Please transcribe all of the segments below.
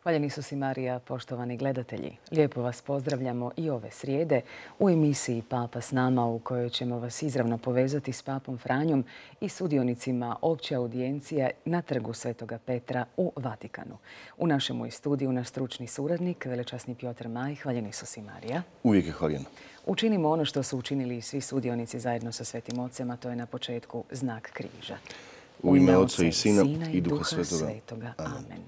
Hvaljeni su si Marija, poštovani gledatelji. Lijepo vas pozdravljamo i ove srijede u emisiji Papa s nama, u kojoj ćemo vas izravno povezati s Papom Franjom i sudionicima opće audijencije na trgu Svetoga Petra u Vatikanu. U našemu studiju naš stručni suradnik, velečasni Piotr Maj. Hvaljeni su si Marija. Uvijek je hvaljeno. Učinimo ono što su učinili svi sudionici zajedno sa Svetim Ocem, a to je na početku znak križa. U ime Oca i Sina i Duha Svetoga. Amen.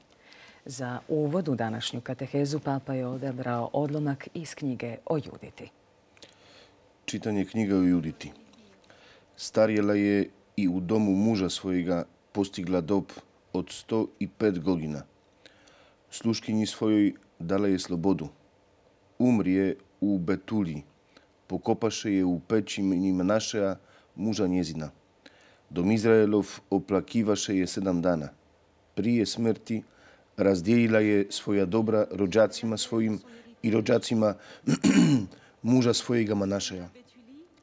Za uvod u današnju katehezu Papa je odabrao odlomak iz knjige o Juditi. Čitanje knjige o Juditi. Starjela je i u domu muža svojega postigla dob od 105 godina. Sluškinji svojoj dala je slobodu. Umrije u Betulji. Pokopaše je u peći Manašeja, muža njezina. Dom Izraelov oplakivaše je 7 dana. Prije smrti razdijelila je svoja dobra rođacima svojim i rođacima muža svojega Manašeja.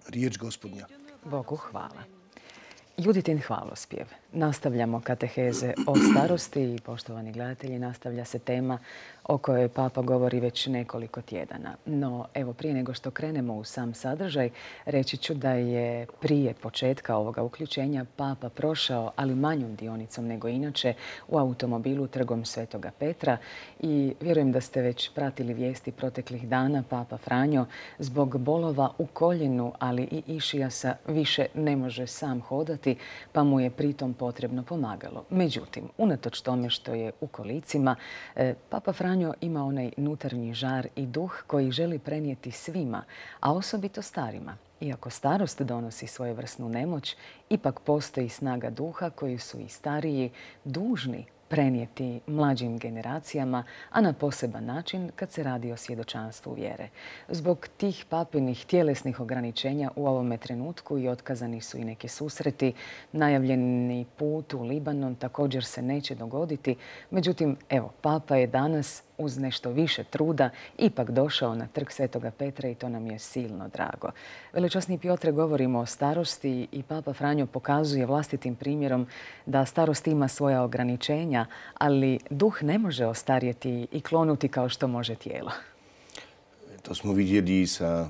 Riječ Gospodnja. Bogu hvala. Juditin hvalospjev. Nastavljamo kateheze o starosti i, poštovani gledatelji, nastavlja se tema o kojoj Papa govori već nekoliko tjedana. No, evo, prije nego što krenemo u sam sadržaj, reći ću da je prije početka ovoga uključenja Papa prošao, ali manjom dionicom nego inače, u automobilu trgom Svetoga Petra i vjerujem da ste već pratili vijesti proteklih dana. Papa Franjo zbog bolova u koljenu, ali i išijasa više ne može sam hodati, pa mu je pritom potrebno pomagalo. Međutim, unatoč tome što je u kolicima, Papa Franjo ima onaj unutarnji žar i duh koji želi prenijeti svima, a osobito starima. Iako starost donosi svojevrsnu nemoć, ipak postoji snaga duha koju su i stariji dužni prenijeti mlađim generacijama, a na poseban način kad se radi o svjedočanstvu vjere. Zbog tih papinih tjelesnih ograničenja u ovome trenutku i otkazani su i neki susreti. Najavljeni put u Libanon također se neće dogoditi. Međutim, evo, Papa je danas uz nešto više truda ipak došao na trg Svetoga Petra i to nam je silno drago. Velečasni Piotre, govorimo o starosti i Papa Franjo pokazuje vlastitim primjerom da starost ima svoja ograničenja, ali duh ne može ostarjeti i klonuti kao što može tijelo. To smo vidjeli i sa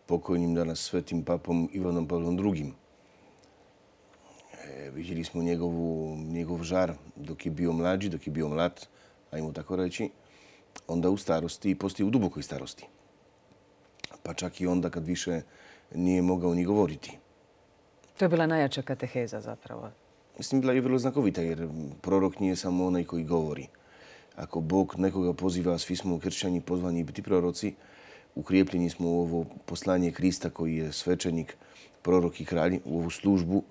pokojnim danas svetim papom Ivanom Pavlom II. Vidjeli smo njegov žar dok je bio mlađi, dok je bio mlad, ajmo tako reći, onda u starosti i poslije u dubokoj starosti. Pa čak i onda kad više nije mogao ni govoriti. To je bila najjača kateheza zapravo. Mislim, bila je vrlo znakovita jer prorok nije samo onaj koji govori. Ako Bog nekoga poziva, svi smo kršćani pozvani biti proroci, ukrijepljeni smo u ovo poslanje Krista koji je svećenik, prorok i kralj, u ovu službu,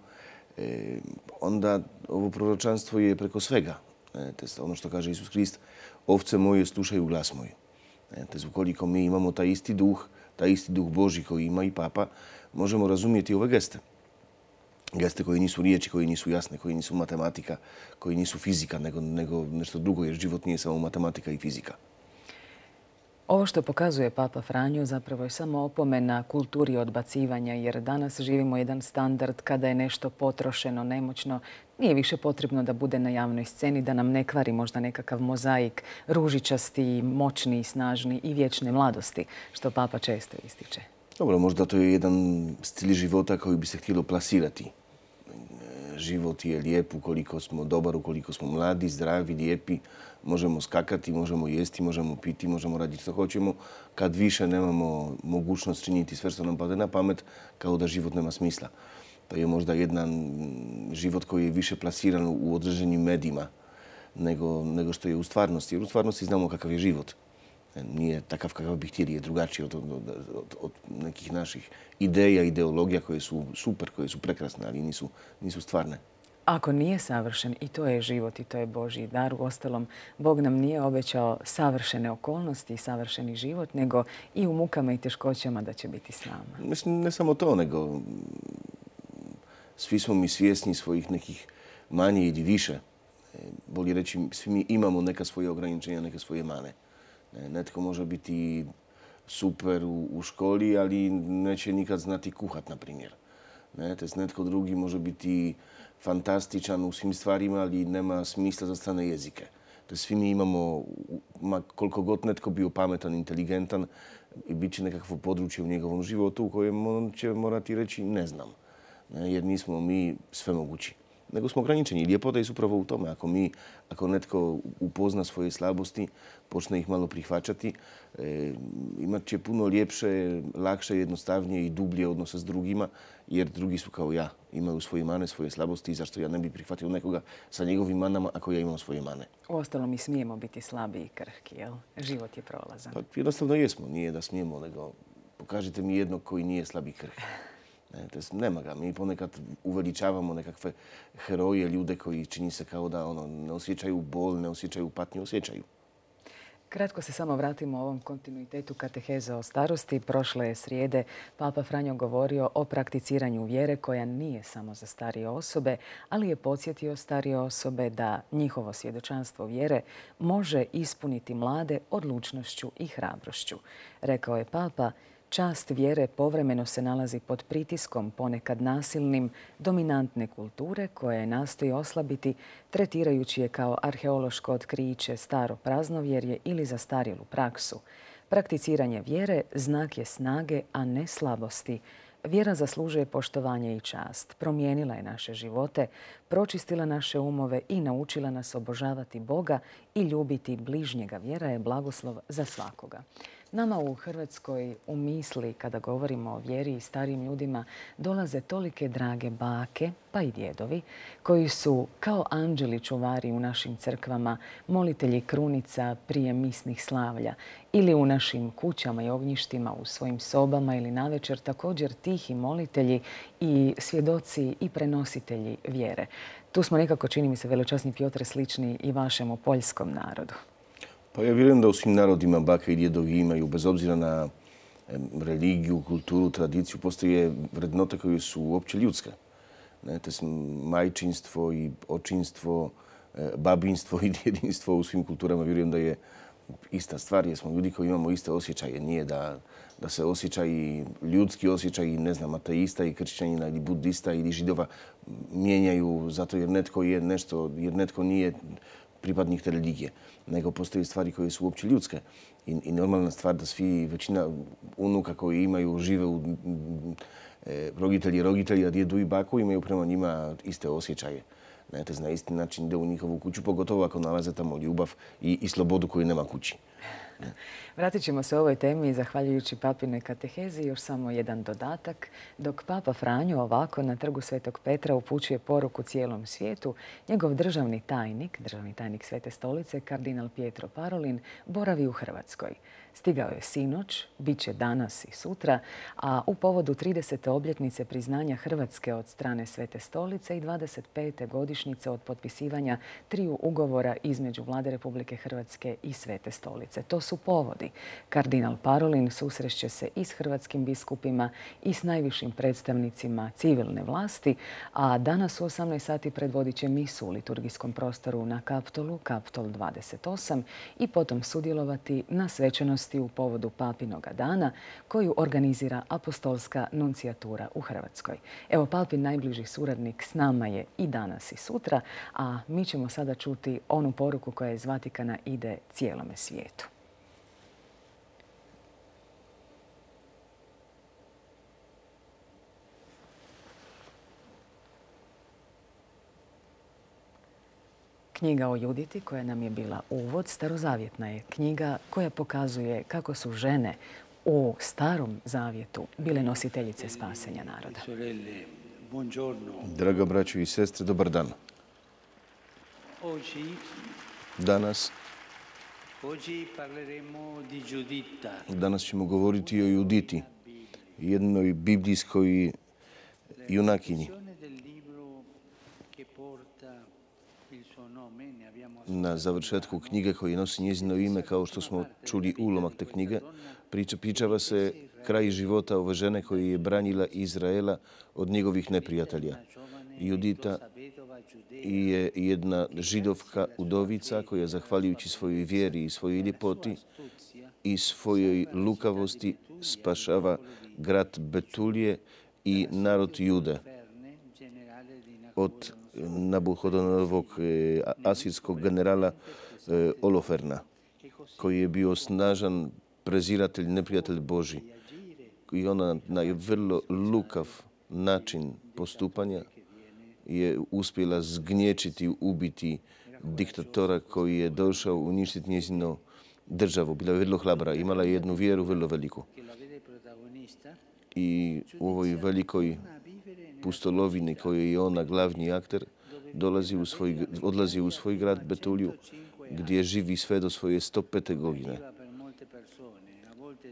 onda ovo proročanstvo je preko svega. Ono što kaže Isus Krist, ovce moje slušaju glas moj. Ukoliko mi imamo taj isti duh Božji koji ima i Papa, možemo razumjeti ove geste. Geste koji nisu riječi, koji nisu jasne, koji nisu matematika, koji nisu fizika, nego nešto drugo, jer život nije samo matematika i fizika. Ovo što pokazuje Papa Franjo zapravo je samo opomena kulturi odbacivanja, jer danas živimo jedan standard kada je nešto potrošeno, nemoćno. Nije više potrebno da bude na javnoj sceni, da nam ne kvari možda nekakav mozaik ružičasti, moćni i snažni i vječne mladosti, što Papa često ističe. Dobro, možda to je jedan stil života koji bi se htjelo plasirati. Život je lijep ukoliko smo dobar, ukoliko smo mladi, zdravi, lijepi. Možemo skakati, možemo jesti, možemo piti, možemo raditi što hoćemo. Kad više nemamo mogućnost činiti sve što nam pade na pamet, kao da život nema smisla. To je možda jedan život koji je više plasiran u određenim medijima nego što je u stvarnosti. Jer u stvarnosti znamo kakav je život. Nije takav kakav bi htjeli, je drugačiji od nekih naših ideja, ideologija koje su super, koje su prekrasne, ali nisu stvarne. Ako nije savršen, i to je život i to je Božji dar. Uostalom, Bog nam nije obećao savršene okolnosti i savršeni život, nego i u mukama i teškoćama da će biti s nama. Mislim, ne samo to, nego svi smo mi svjesni svojih nekih manje ili više. Bolje reći, svi mi imamo neka svoje ograničenja, neke svoje mane. Netko može biti super u školi, ali neće nikad znati kuhat, na primjer. Netko drugi može biti fantastičan u svim stvarima, ali nema smisla za strane jezike. Svi mi imamo, koliko god netko bio pametan, inteligentan, i bit će nekakvo područje u njegovom životu u kojem on će morati reći ne znam. Jer nismo mi svemogući. Nego smo ograničeni. I ljepota je upravo u tome. Ako netko upozna svoje slabosti, počne ih malo prihvaćati, imat će puno ljepše, lakše, jednostavnije i dublje odnose s drugima, jer drugi su kao ja. Imaju svoje mane, svoje slabosti i zašto ja ne bi prihvatio nekoga sa njegovim manama ako ja imam svoje mane. Uostalom mi smijemo biti slabi i krhki, jel? Život je prolazan. Pa jednostavno jesmo. Nije da smijemo, nego pokažite mi jednog koji nije slab i krhki. Nema ga. Mi ponekad uveličavamo nekakve heroje, ljude koji čini se kao da ne osjećaju bol, ne osjećaju patnju, osjećaju. Kratko se samo vratimo ovom kontinuitetu kateheze o starosti. Prošle srijede Papa Franjo govorio o prakticiranju vjere koja nije samo za starije osobe, ali je podsjetio starije osobe da njihovo svjedočanstvo vjere može ispuniti mlade odlučnošću i hrabrošću. Rekao je Papa, čast vjere povremeno se nalazi pod pritiskom, ponekad nasilnim, dominantne kulture koja je nastoji oslabiti, tretirajući je kao arheološko otkriće, staro praznovjerje ili zastarjelu praksu. Prakticiranje vjere znak je snage, a ne slabosti. Vjera zaslužuje poštovanje i čast. Promijenila je naše živote, pročistila naše umove i naučila nas obožavati Boga i ljubiti bližnjega. Vjera je blagoslov za svakoga. Nama u Hrvatskoj u misli, kada govorimo o vjeri i starijim ljudima, dolaze tolike drage bake, pa i djedovi, koji su kao anđeli čuvari u našim crkvama, molitelji krunica prije misnih slavlja ili u našim kućama i ognjištima, u svojim sobama ili navečer također tihi molitelji i svjedoci i prenositelji vjere. Tu smo nekako, čini mi se, veličasni Pjotre, slični i vašemu poljskom narodu. Pa ja vjerujem da u svim narodima bake i djedovi imaju, bez obzira na religiju, kulturu, tradiciju, postoje vrednote koje su uopće ljudske. Majčinstvo i očinstvo, babinstvo i djedinstvo u svim kulturama vjerujem da je ista stvar, jer smo ljudi koji imamo iste osjećaje. Nije da se osjećaji, ljudski osjećaji, ne znam, ateista i kršćanina ili budista ili židova mijenjaju zato jer netko je nešto, jer netko nije pripadnik te religije, nego postoje stvari koje su uopće ljudske. I normalna stvar da svi, većina unuka koji imaju, žive u roditelji, a djedu i baku imaju prema njima iste osjećaje. Na isti način ide u njihovu kuću, pogotovo ako nalaze tamo ljubav i slobodu koju nema kući. Vratit ćemo se ovoj temi zahvaljujući papinoj katehezi. Još samo jedan dodatak. Dok Papa Franjo ovako na trgu Svetog Petra upućuje poruku cijelom svijetu, njegov državni tajnik Svete stolice, kardinal Pietro Parolin, boravi u Hrvatskoj. Stigao je sinoć, bit će danas i sutra, a u povodu 30. obljetnice priznanja Hrvatske od strane Svete stolice i 25. godišnjice od potpisivanja 3 ugovora između Vlade Republike Hrvatske i Svete stolice. To su povodi. Kardinal Parolin susreće se i s hrvatskim biskupima i s najvišim predstavnicima civilne vlasti, a danas u 18 sati predvodit će misu u liturgijskom prostoru na Kaptolu, Kaptol 28, i potom sudjelovati na svečanosti u povodu Papinoga dana koju organizira Apostolska nuncijatura u Hrvatskoj. Evo, Papin najbliži suradnik s nama je i danas i sutra, a mi ćemo sada čuti onu poruku koja iz Vatikana ide cijelome svijetu. Knjiga o Juditi, koja nam je bila uvod, starozavjetna je knjiga koja pokazuje kako su žene u Starom zavjetu bile nositeljice spasenja naroda. Draga braćo i sestre, dobar dan. Danas ćemo govoriti o Juditi, jednoj biblijskoj junakinji. Na završetku knjige koji nosi njezino ime, kao što smo čuli ulomak te knjige, pričava se kraj života ove žene koja je branila Izraela od njegovih neprijatelja. Judita je jedna židovka udovica koja, zahvaljujući svojoj vjeri i svojoj ljepoti i svojoj lukavosti, spašava grad Betulije i narod Jude od Nabuhodonorovog asirskog generala Oloferna, koji je bio snažan preziratelj, neprijatelj Boži. I ona na vrlo lukav način postupanja je uspjela zgnječiti, ubiti diktatora koji je došao uništiti njezinu državu. Bila je vrlo hrabra, imala je jednu vjeru vrlo veliku. I u ovoj velikoj pustolovini kojoj je ona glavni akter, odlazi u svoj grad Betuliju, gdje živi sve do svoje 105. godine.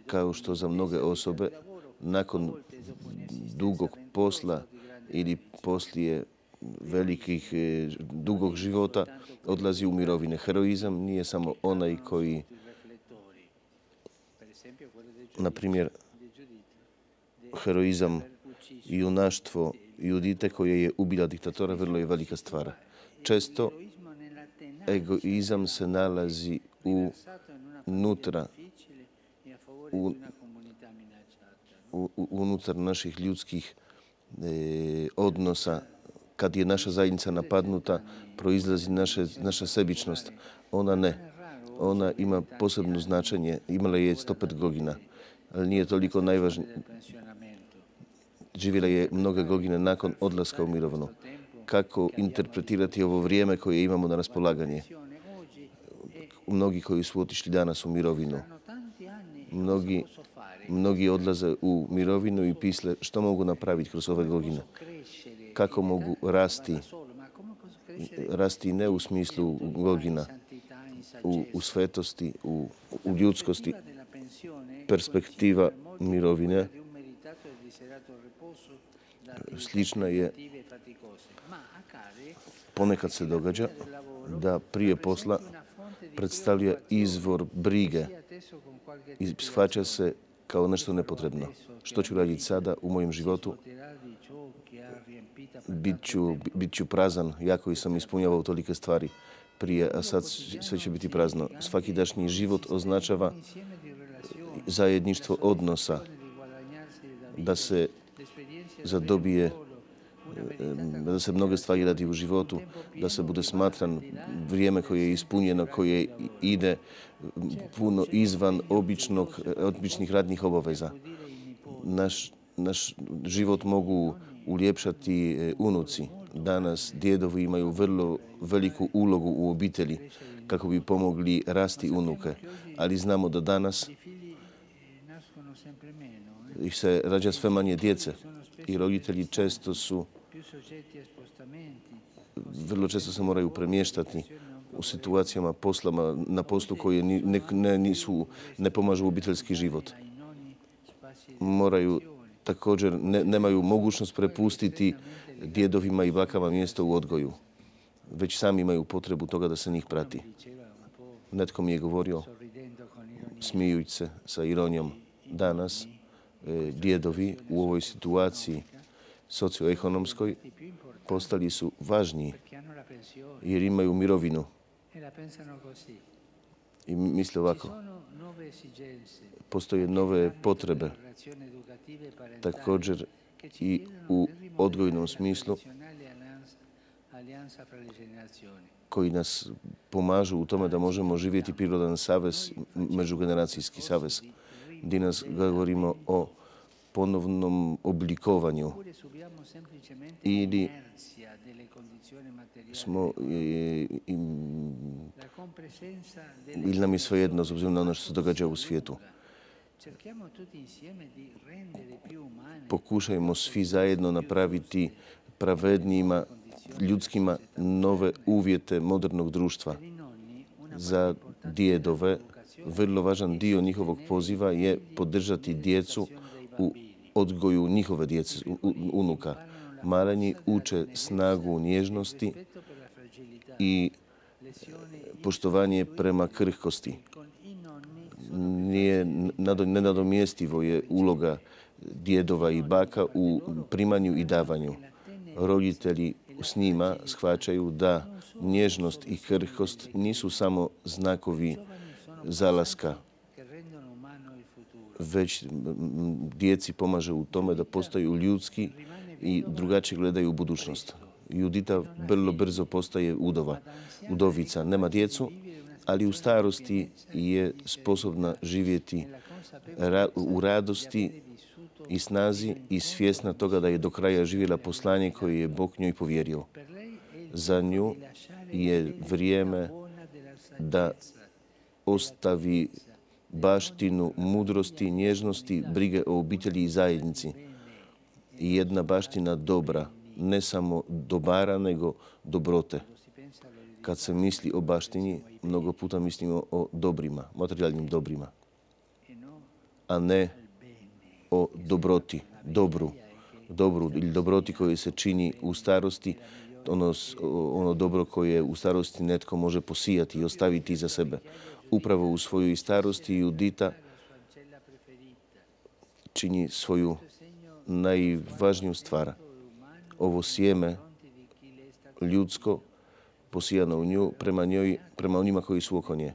Kao što za mnoge osobe, nakon dugog posla ili poslije velikih, dugog života, odlazi u mirovine. Heroizam nije samo onaj koji, na primjer, heroizam i junaštvo Judite koje je ubila diktatora vrlo je velika stvar. Često egoizam se nalazi unutar naših ljudskih odnosa. Kad je naša zajednica napadnuta, proizlazi naša sebičnost. Ona ne. Ona ima posebno značenje. Imala je 105 godina, ali nije toliko najvažnije. Živjela je mnoge godine nakon odlaska u mirovinu. Kako interpretirati ovo vrijeme koje imamo na raspolaganje? Mnogi koji su otišli danas u mirovinu, mnogi odlaze u mirovinu i pisle što mogu napraviti kroz ove godine. Kako mogu rasti ne u smislu godina, u svetosti, u ljudskosti. Perspektiva mirovine slična je, ponekad se događa da prije posla predstavlja izvor brige i shvaća se kao nešto nepotrebno. Što ću raditi sada u mojem životu? Bit ću prazan, ja koji sam ispunjavao tolike stvari prije, a sad sve će biti prazno. Svakidašnji život označava zajedništvo odnosa, da se zadobije, da se mnoge stvari radi u životu, da se bude smatran vrijeme koje je ispunjeno, koje ide puno izvan običnih radnih obaveza. Naš život mogu uljepšati unuci. Danas djedovi imaju vrlo veliku ulogu u obitelji kako bi pomogli rasti unuke, ali znamo da danas ih se rađa sve manje djece i roditelji vrlo često se moraju premještati u situacijama na poslu koje ne pomažu obiteljski život. Također nemaju mogućnost prepustiti djedovima i bakama mjesto u odgoju, već sami imaju potrebu toga da se njih prati. Netko mi je govorio, smijući se sa ironijom, danas djedovi u ovoj situaciji socioekonomskoj postali su važniji jer imaju mirovinu. I misle ovako, postoje nove potrebe, također i u odgojnom smislu, koji nas pomažu u tome da možemo živjeti prirodan savez, međugeneracijski savez, gdje nas govorimo o ponovnom oblikovanju ili nam je svejedno s obzirom na ono što se događa u svijetu. Pokušajmo svi zajedno napraviti pravednijima, ljudskima nove uvjete modernog društva. Za djedove vrlo važan dio njihovog poziva je podržati djecu u odgoju njihove djece, unuka. Maleni uče snagu nježnosti i poštovanje prema krhkosti. Nenadomjestivo je uloga djedova i baka u primanju i davanju. Roditelji s njima shvaćaju da nježnost i krhkost nisu samo znakovi zalaska, već djeci pomaže u tome da postaju ljudski i drugačije gledaju u budućnost. Judita vrlo brzo postaje udovica. Nema djecu, ali u starosti je sposobna živjeti u radosti i snazi i svjesna toga da je do kraja živjela poslanje koje je Bog njoj povjerio. Za nju je vrijeme da ostavi baštinu mudrosti, nježnosti, brige o obitelji i zajednici. I jedna baština dobra, ne samo dobara, nego dobrote. Kad se misli o baštini, mnogo puta mislimo o dobrima, materijalnim dobrima, a ne o dobroti, dobru ili dobroti koje se čini u starosti, ono dobro koje u starosti netko može posijati i ostaviti iza sebe. Upravo u svojoj starosti Judita čini svoju najvažniju stvar. Ovo sjeme ljudsko posijano u nju prema onima koji su oko nje.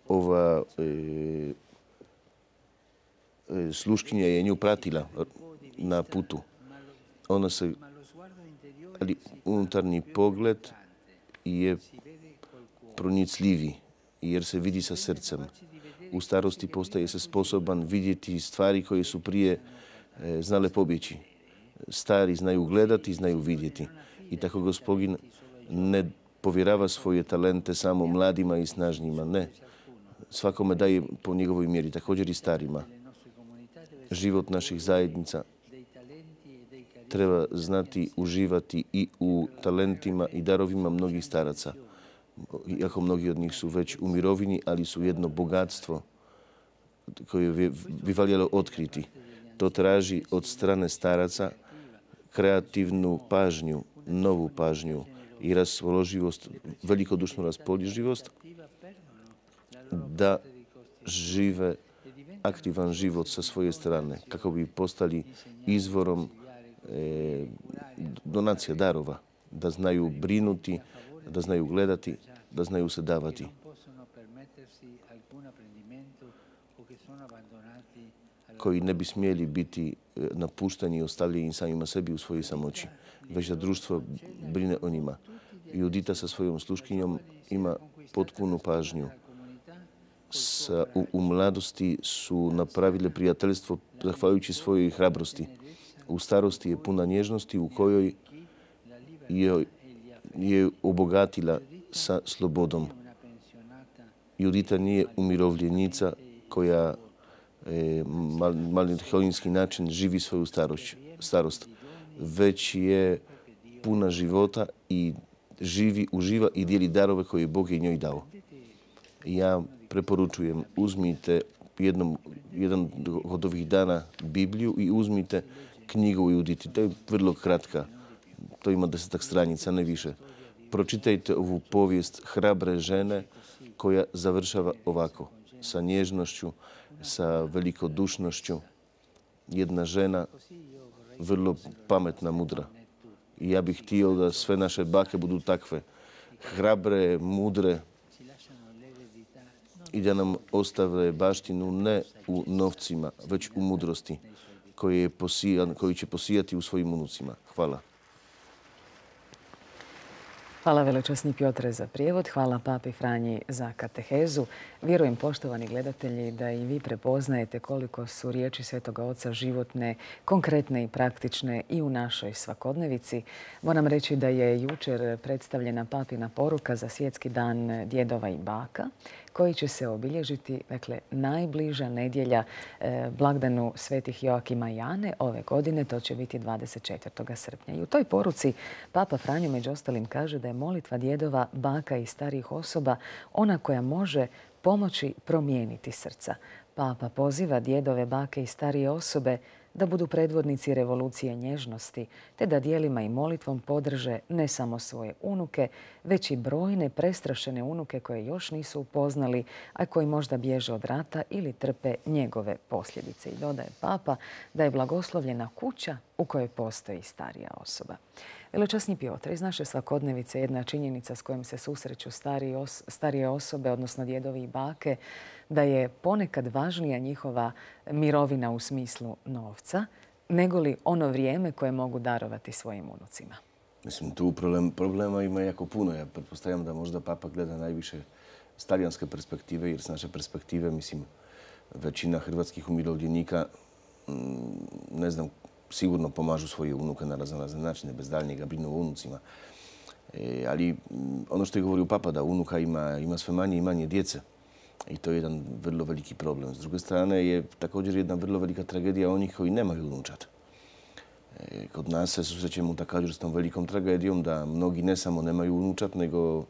Ova sluškinja je nju pratila na putu. Ali unutarnji pogled je pronicljivi jer se vidi sa srcem. U starosti postaje se sposoban vidjeti stvari koje su prije znale pobjeći. Stari znaju gledati, znaju vidjeti. I tako Gospodin ne povjerava svoje talente samo mladima i snažnjima. Ne. Svakome daje po njegovoj mjeri, također i starima. Život naših zajednica treba znati uživati i u talentima i darovima mnogih staraca. Iako mnogi od njih su već u mirovini, ali su jedno bogatstvo koje bi valjalo otkriti. To traži od strane staraca kreativnu pažnju, novu pažnju i raspoloživost, velikodušnu raspoloživost da žive aktivan život sa svoje strane, kako bi postali izvorom donacija, darova, da znaju brinuti, da znaju gledati, da znaju se davati. Koji ne bi smjeli biti napušteni i ostavljeni samima sebi u svojoj samoći, već da društvo brine o njima. Judita sa svojom sluškinjom ima potpunu pažnju. U mladosti su napravile prijateljstvo zahvaljujući svojoj hrabrosti. U starosti je puna nježnosti u kojoj je obogatila sa slobodom. Judita nije umirovljenica koja malinski način živi svoju starost, već je puna života i uživa i dijeli darove koje Bog je njoj dao. Ja preporučujem, uzmite jedan od ovih dana Bibliju i uzmite knjigu o Juditi. To je vrlo kratka. To ima 10 stranica, ne više. Pročitajte ovu povijest hrabre žene koja završava ovako, sa nježnošću, sa velikodušnošću. Jedna žena vrlo pametna, mudra. I ja bih htio da sve naše bake budu takve. Hrabre, mudre i da nam ostave baštinu ne u novcima, već u mudrosti koju će posijati u svojim unucima. Hvala. Hvala velečasni Piotre za prijevod, hvala papi Franji za katehezu. Vjerujem, poštovani gledatelji, da i vi prepoznajete koliko su riječi Svetoga Oca životne, konkretne i praktične i u našoj svakodnevici. Moram reći da je jučer predstavljena papina poruka za Svjetski dan djedova i baka, koji će se obilježiti, dakle, najbliža nedjelja blagdanu svetih Joakima i Ane ove godine, to će biti 24. srpnja. I u toj poruci Papa Franjo među ostalim kaže da je molitva djedova, baka i starijih osoba ona koja može pomoći promijeniti srca. Papa poziva djedove, bake i starije osobe da budu predvodnici revolucije nježnosti, te da djelima i molitvom podrže ne samo svoje unuke, već i brojne prestrašene unuke koje još nisu upoznali, a koji možda bježe od rata ili trpe njegove posljedice. I dodaje Papa da je blagoslovljena kuća u kojoj postoji starija osoba. Velečasni Piotre, iz naše svakodnevice jedna činjenica s kojom se susreću starije osobe, odnosno djedovi i bake, da je ponekad važnija njihova mirovina u smislu novca nego li ono vrijeme koje mogu darovati svojim unucima? Mislim, tu problema ima jako puno. Ja pretpostavljam da možda papa gleda najviše s talijanske perspektive, jer s naše perspektive, mislim, većina hrvatskih umirovljenika, ne znam, sigurno pomažu svoje unuke na razne načine, bez daljnjega brinu o unucima. Ali ono što je govorio papa, da unuka ima sve manje i manje djece. I to je jedan vrlo veliki problem. S druge strane je također jedna vrlo velika tragedija onih koji nemaju unučad. Kod nas se susrećemo također s tom velikom tragedijom da mnogi ne samo nemaju unučad, nego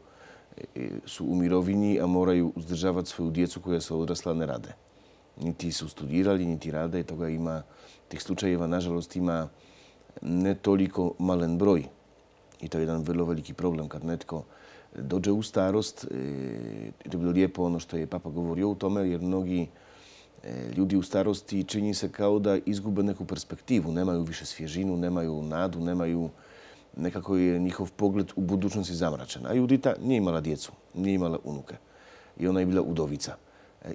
su u mirovini, a moraju uzdržavati svoju djecu koja su odrasla, ne rade. Niti su studirali, niti rade. Toga ima, tih slučajeva, nažalost, ima ne toliko malen broj. I to je jedan vrlo veliki problem kad netko dođe u starost. To je bilo lijepo ono što je papa govorio o tome, jer mnogi ljudi u starosti čini se kao da izgube neku perspektivu, nemaju više svježinu, nemaju nadu, nemaju, nekako je njihov pogled u budućnosti zamračen. A Judita nije imala djecu, nije imala unuke. I ona je bila udovica.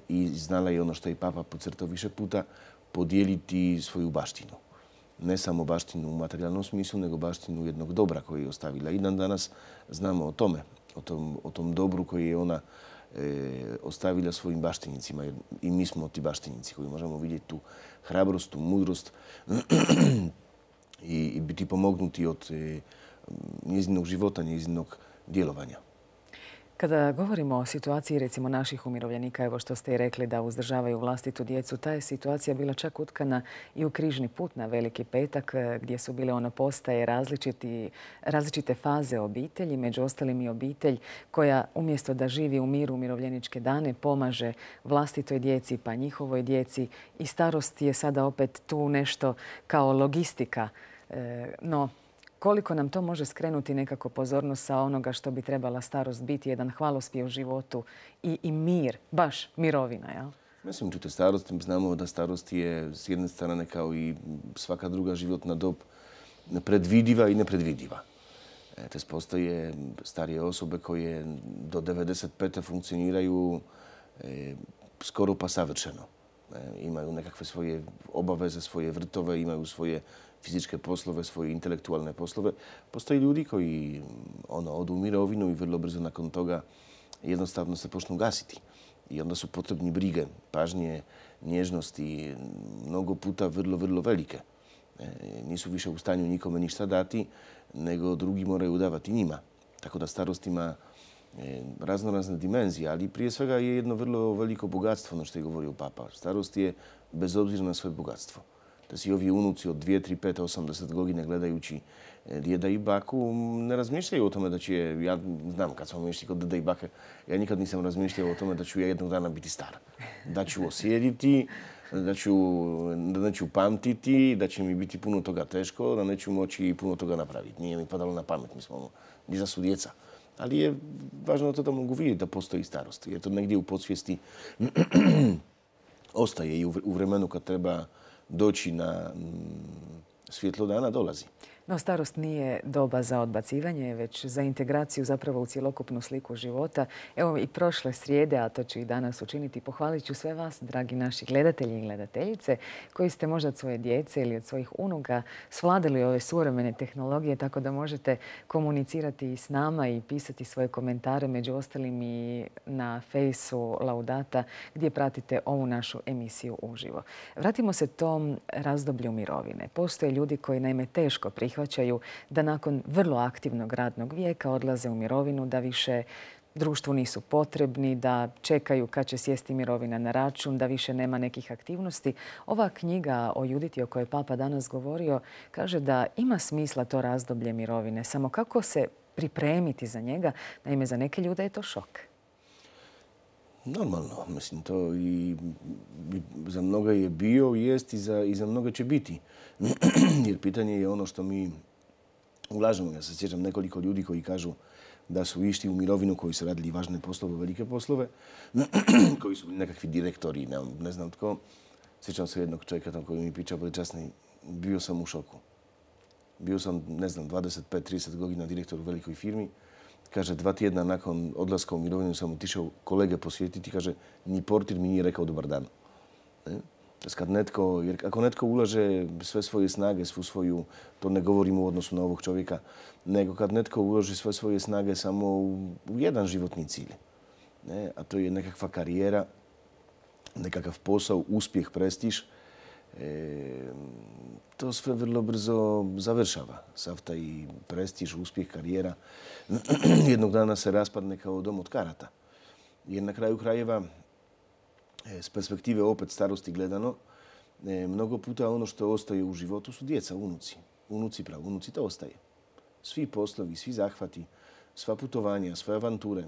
I znala je ono što je papa podcrtao više puta, podijeliti svoju baštinu. Ne samo baštinu u materijalnom smislu, nego baštinu jednog dobra koji je ostavila. I dan danas znamo o tome, o tom dobru koji je ona ostavila svojim baštinicima. Jer i mi smo ti baštinici koji možemo vidjeti tu hrabrost, tu mudrost i biti pomognuti od njezinog života, njezinog djelovanja. Kada govorimo o situaciji recimo naših umirovljenika, evo što ste i rekli da uzdržavaju vlastitu djecu, ta je situacija bila čak utkana i u križni put na Veliki petak gdje su bile postaje različite faze obitelji, među ostalim i obitelj koja umjesto da živi u miru umirovljeničke dane pomaže vlastitoj djeci pa njihovoj djeci i starost je sada opet tu nešto kao logistika. No, koliko nam to može skrenuti nekako pozornost sa onoga što bi trebala starost biti, jedan hvalospjev životu i mir, baš mirovina, jel? Mislim, čujte, starost, znamo da starost je s jedne strane kao i svaka druga životna dob predvidiva i nepredvidiva. Postoje starije osobe koje do 95. funkcioniraju skoro pa savršeno. Imaju nekakve svoje obaveze, svoje vrtove, imaju svoje fizičke poslove, svoje intelektualne poslove. Postoje ljudi koji odu u mirovinu i vrlo brzo nakon toga jednostavno se počnu gasiti. I onda su potrebni brige, pažnje, nježnosti, mnogo puta vrlo, vrlo velike. Nisu više u stanju nikome ništa dati, nego drugi moraju davati njima. Tako da starost ima razne dimenzije, ali prije svega je jedno vrlo veliko bogatstvo, ono što je govorio papa. Starost je bez obzira na svoje bogatstvo. Da si ovi unuci od 2, 3, 5, 80 godine gledajući djeda i baku ne razmišljaju o tome da će, ja znam kad smo išli kod djeda i bake, ja nikad nisam razmišljao o tome da ću ja jednog dana biti star. Da ću osjediti, da neću pamtiti, da će mi biti puno toga teško, da neću moći puno toga napraviti. Nije mi padalo na pamet, mi smo djeca su djeca. Ali je važno to da mogu vidjeti da postoji starost. Jer to negdje u podsvijesti ostaje i u vremenu kad treba doći na svjetlo dana dolazi. No, starost nije doba za odbacivanje, već za integraciju zapravo u cjelokupnu sliku života. Evo i prošle srijede, a to ću i danas učiniti, pohvalit ću sve vas, dragi naši gledatelji i gledateljice, koji ste možda od svoje djece ili od svojih unuka svladali ove suvremene tehnologije, tako da možete komunicirati s nama i pisati svoje komentare, među ostalim i na fejsu Laudata, gdje pratite ovu našu emisiju uživo. Vratimo se tom razdoblju mirovine. Postoje ljudi koji naime teško prihvaćaju da nakon vrlo aktivnog radnog vijeka odlaze u mirovinu, da više društvu nisu potrebni, da čekaju kad će sjesti mirovina na račun, da više nema nekih aktivnosti. Ova knjiga o Juditi o kojoj je papa danas govorio kaže da ima smisla to razdoblje mirovine, samo kako se pripremiti za njega. Naime, za neke ljude je to šok. Normalno, mislim, to i za mnoga je bio, jest i za mnoga će biti. Jer pitanje je ono što mi ulažemo. Ja se sjećam nekoliko ljudi koji kažu da su išli u mirovinu, koji su radili važne poslove, velike poslove, koji su bili nekakvi direktori, ne znam tko. Sjećam se jednog čovjeka koji mi pričao veličasni, bio sam u šoku. Bio sam, ne znam, 25-30 godina direktor u velikoj firmi. Kaže, 2 tjedna nakon odlaska u mirovinu sam otišao kolege posjetiti. Kaže, ni portir mi nije rekao dobar dan. Jer ako netko ulaže sve svoje snage, svu svoju, to ne govorim u odnosu na ovog čovjeka, nego kad netko uloži sve svoje snage samo u jedan životni cilj, ne? A to je nekakva karijera, nekakav posao, uspjeh, prestiž, to sve vrlo brzo završava. Sav taj prestiž, uspjeh, karijera jednog dana se raspadne kao dom od karata. Jer na kraju krajeva, s perspektive opet starosti gledano, mnogo puta ono što ostaje u životu su djeca, unuci. Unuci to ostaje. Svi poslovi, svi zahvati, sva putovanja, sve avanture,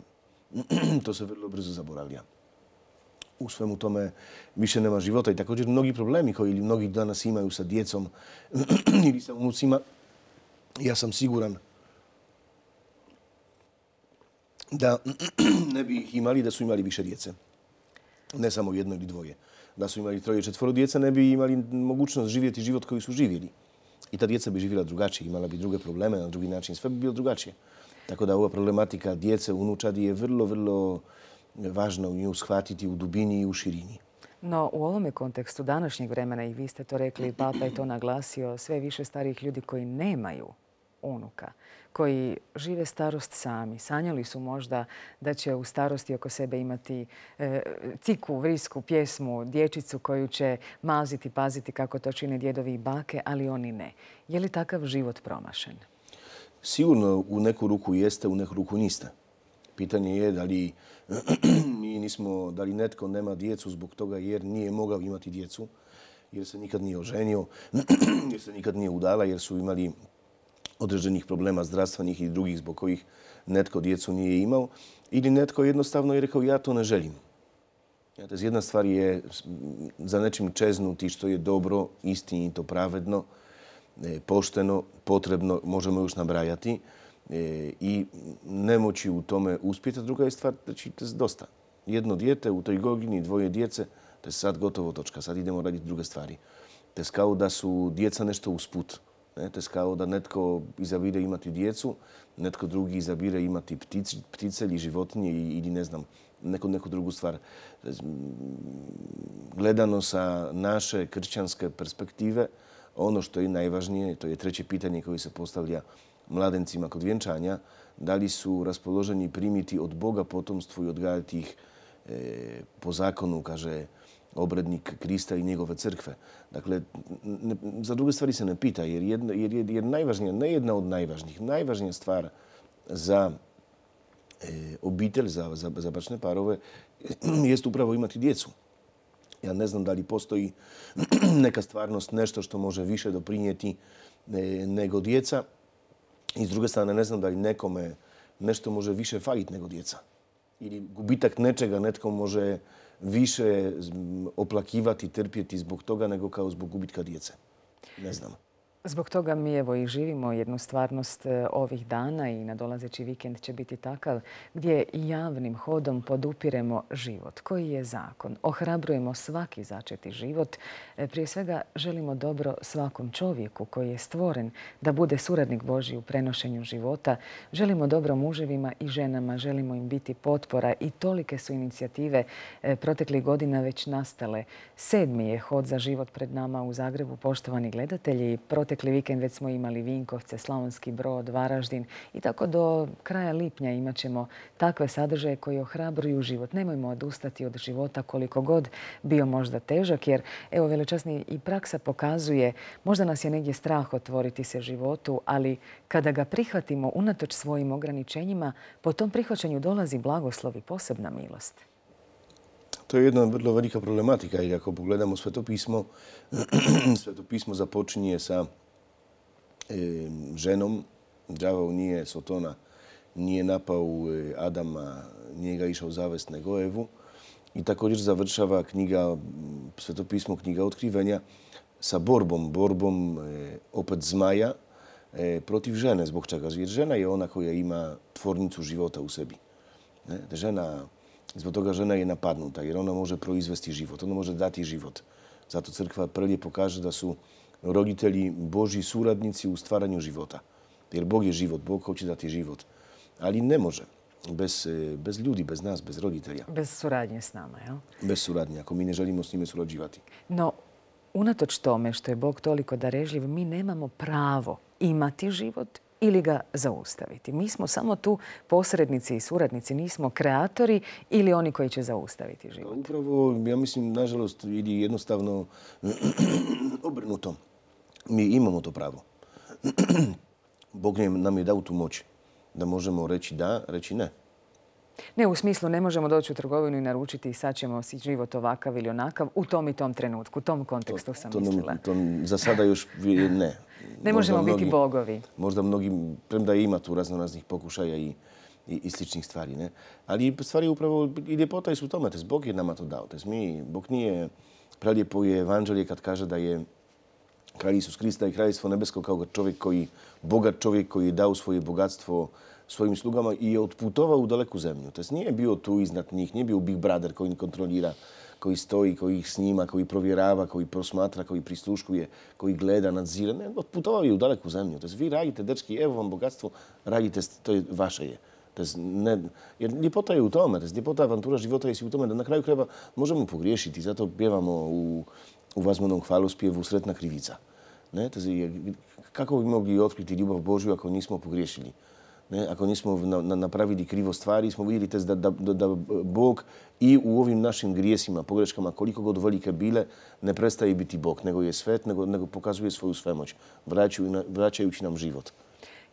to se vrlo brzo zaboravlja. U svemu tome više nema života i također mnogi problemi koji mnogi danas imaju sa djecom ili sa unucima, ja sam siguran da ne bi ih imali da su imali više djece. Ne samo jedno ili dvoje. Da su imali 3, 4 djece, ne bi imali mogućnost živjeti život koji su živjeli. I ta djeca bi živjela drugačije, imala bi druge probleme na drugi način. Sve bi bilo drugačije. Tako da ova problematika djece, unučadi je vrlo, vrlo važno u nju shvatiti u dubini i u širini. No, u ovome kontekstu današnjeg vremena, i vi ste to rekli, Papa je to naglasio, sve više starijih ljudi koji nemaju unuka, koji žive starost sami. Sanjali su možda da će u starosti oko sebe imati ciku, vrisku, pjesmu, dječicu koju će maziti, paziti kako to čine djedovi i bake, ali oni ne. Je li takav život promašen? Sigurno u neku ruku jeste, u neku ruku niste. Pitanje je da li netko nema djecu zbog toga jer nije mogao imati djecu, jer se nikad nije oženio, jer se nikad nije udala, jer su imali određenih problema zdravstvenih i drugih zbog kojih netko djecu nije imao, ili netko jednostavno je rekao ja to ne želim. Jedna stvar je za nečim čeznuti što je dobro, istinito, pravedno, pošteno, potrebno, možemo još nabrajati, i nemoći u tome uspjeti. Druga je stvar, znači, to je dosta. Jedno dijete u toj godini, 2 djece, to je sad gotovo točka. Sad idemo raditi druge stvari. To je kao da su djeca nešto usput. To je kao da netko izabire imati djecu, netko drugi izabire imati ptice ili životinje ili ne znam, neku drugu stvar. Gledano sa naše kršćanske perspektive, ono što je najvažnije, to je treće pitanje koje se postavlja mladencima kod vjenčanja, da li su raspoloženi primiti od Boga potomstvo i odgajati ih po zakonu, kaže obrednik Krista i njegove crkve. Dakle, za druge stvari se ne pita, jer najvažnija, ne jedna od najvažnijih, najvažnija stvar za obitelj, za bračne parove, jest upravo imati djecu. Ja ne znam da li postoji neka stvarnost, nešto što može više doprinijeti nego djeca. I s druge strane, ne znam da li nekome nešto može više faliti nego djeca. Ili gubitak nečega netko može više oplakivati, trpjeti zbog toga nego kao zbog gubitka djece. Ne znam. Zbog toga mi evo i živimo jednu stvarnost ovih dana i nadolazeći vikend će biti takav gdje javnim hodom podupiremo život. Koji je zakon? Ohrabrujemo svaki začeti život. Prije svega želimo dobro svakom čovjeku koji je stvoren da bude suradnik Božji u prenošenju života. Želimo dobro muževima i ženama, želimo im biti potpora i tolike su inicijative proteklih godina već nastale. 7. je hod za život pred nama u Zagrebu, poštovani gledatelji. Protekli vikend već smo imali Vinkovce, Slavonski Brod, Varaždin i tako do kraja lipnja imat ćemo takve sadržaje koji ohrabruju život. Nemojmo odustati od života koliko god bio možda težak, jer evo velečasni i praksa pokazuje, možda nas je negdje strah otvoriti se životu, ali kada ga prihvatimo unatoč svojim ograničenjima, po tom prihvaćanju dolazi blagoslov i posebna milost. To je jedna vrlo velika problematika i ako pogledamo Sveto pismo započinje sa ženom. Đavao nije Sotona, nije napao Adama, nije ga išao zavest nego Evu. I također završava knjiga, Sveto pismo, knjiga Otkrivenja, sa borbom opet zmaja protiv žene. Zbog čega? Jer žena je ona koja ima tvornicu života u sebi. Zbog toga žena je napadnuta jer ona može proizvesti život, ona može dati život. Zato crkva preljepo kaže da su roditelji Božji suradnici u stvaranju života. Jer Bog je život, Bog hoće dati život. Ali ne može bez ljudi, bez nas, bez roditelja. Bez suradnje s nama, jel? Bez suradnje, ako mi ne želimo s njime surađivati. No, unatoč tome što je Bog toliko darežljiv, mi nemamo pravo imati život ili ga zaustaviti. Mi smo samo tu posrednici i suradnici, nismo kreatori ili oni koji će zaustaviti život. Upravo, ja mislim, nažalost, ili jednostavno obrnuto. Mi imamo to pravo. Bog nam je dao tu moć da možemo reći da, reći ne. Ne, u smislu ne možemo doći u trgovinu i naručiti i sad ćemo si život ovakav ili onakav u tom i tom trenutku. U tom kontekstu sam mislila. Za sada još ne. Ne možemo biti bogovi. Možda mnogi, premda ima tu raznih pokušaja i sličnih stvari. Ne? Ali stvari upravo i ljepota su u tome. Bog je nama to dao. Bog nije, prelijepo je evanđelje kad kaže da je kralj Isus Krista i kraljevstvo nebesko kao čovjek bogat čovjek koji je dao svoje bogatstvo svojim slugama i je otputovao u daleku zemlju. Nije bio tu iznad njih, nije bio Big Brother koji ih kontrolira, koji stoji, koji ih snima, koji provjerava, koji prosmatra, koji prisluškuje, koji gleda, nadzire. Ne, otputovao je u daleku zemlju. Vi radite, dečki, evo vam bogatstvo, radite, to je vaše je. Jer ljepota je u tome, ljepota avantura života je u tome da na kraju krajeva možemo pogriješiti. Zato pjevamo u vazmanom hvalospjevu Sretna krivica. Kako bi mogli otkriti ljubav Božju ako nismo pogriješili? Ako nismo napravili krivo stvari, smo vidjeli da Bog i u ovim našim grijesima, pogreškama, koliko god velike bile, ne prestaje biti Bog, nego je svet, nego pokazuje svoju svemoć, vraćajući nam život.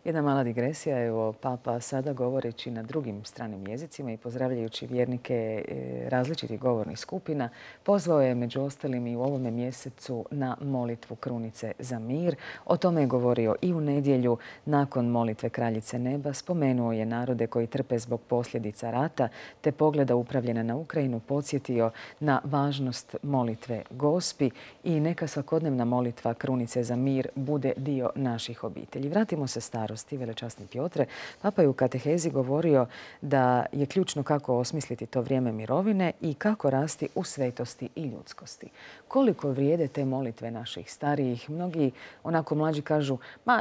Jedna mala digresija. Evo, Papa sada govoreći na drugim stranim jezicima i pozdravljajući vjernike različitih govornih skupina, pozvao je među ostalim i u ovome mjesecu na molitvu Krunice za mir. O tome je govorio i u nedjelju nakon molitve Kraljice neba. Spomenuo je narode koji trpe zbog posljedica rata, te pogleda upravljena na Ukrajinu podsjetio na važnost molitve Gospi i neka svakodnevna molitva Krunice za mir bude dio naših obitelji. Vratimo se starosti, velečasni Piotre. Papa je u katehezi govorio da je ključno kako osmisliti to vrijeme mirovine i kako rasti u svetosti i ljudskosti. Koliko vrijede te molitve naših starijih? Mnogi onako mlađi kažu,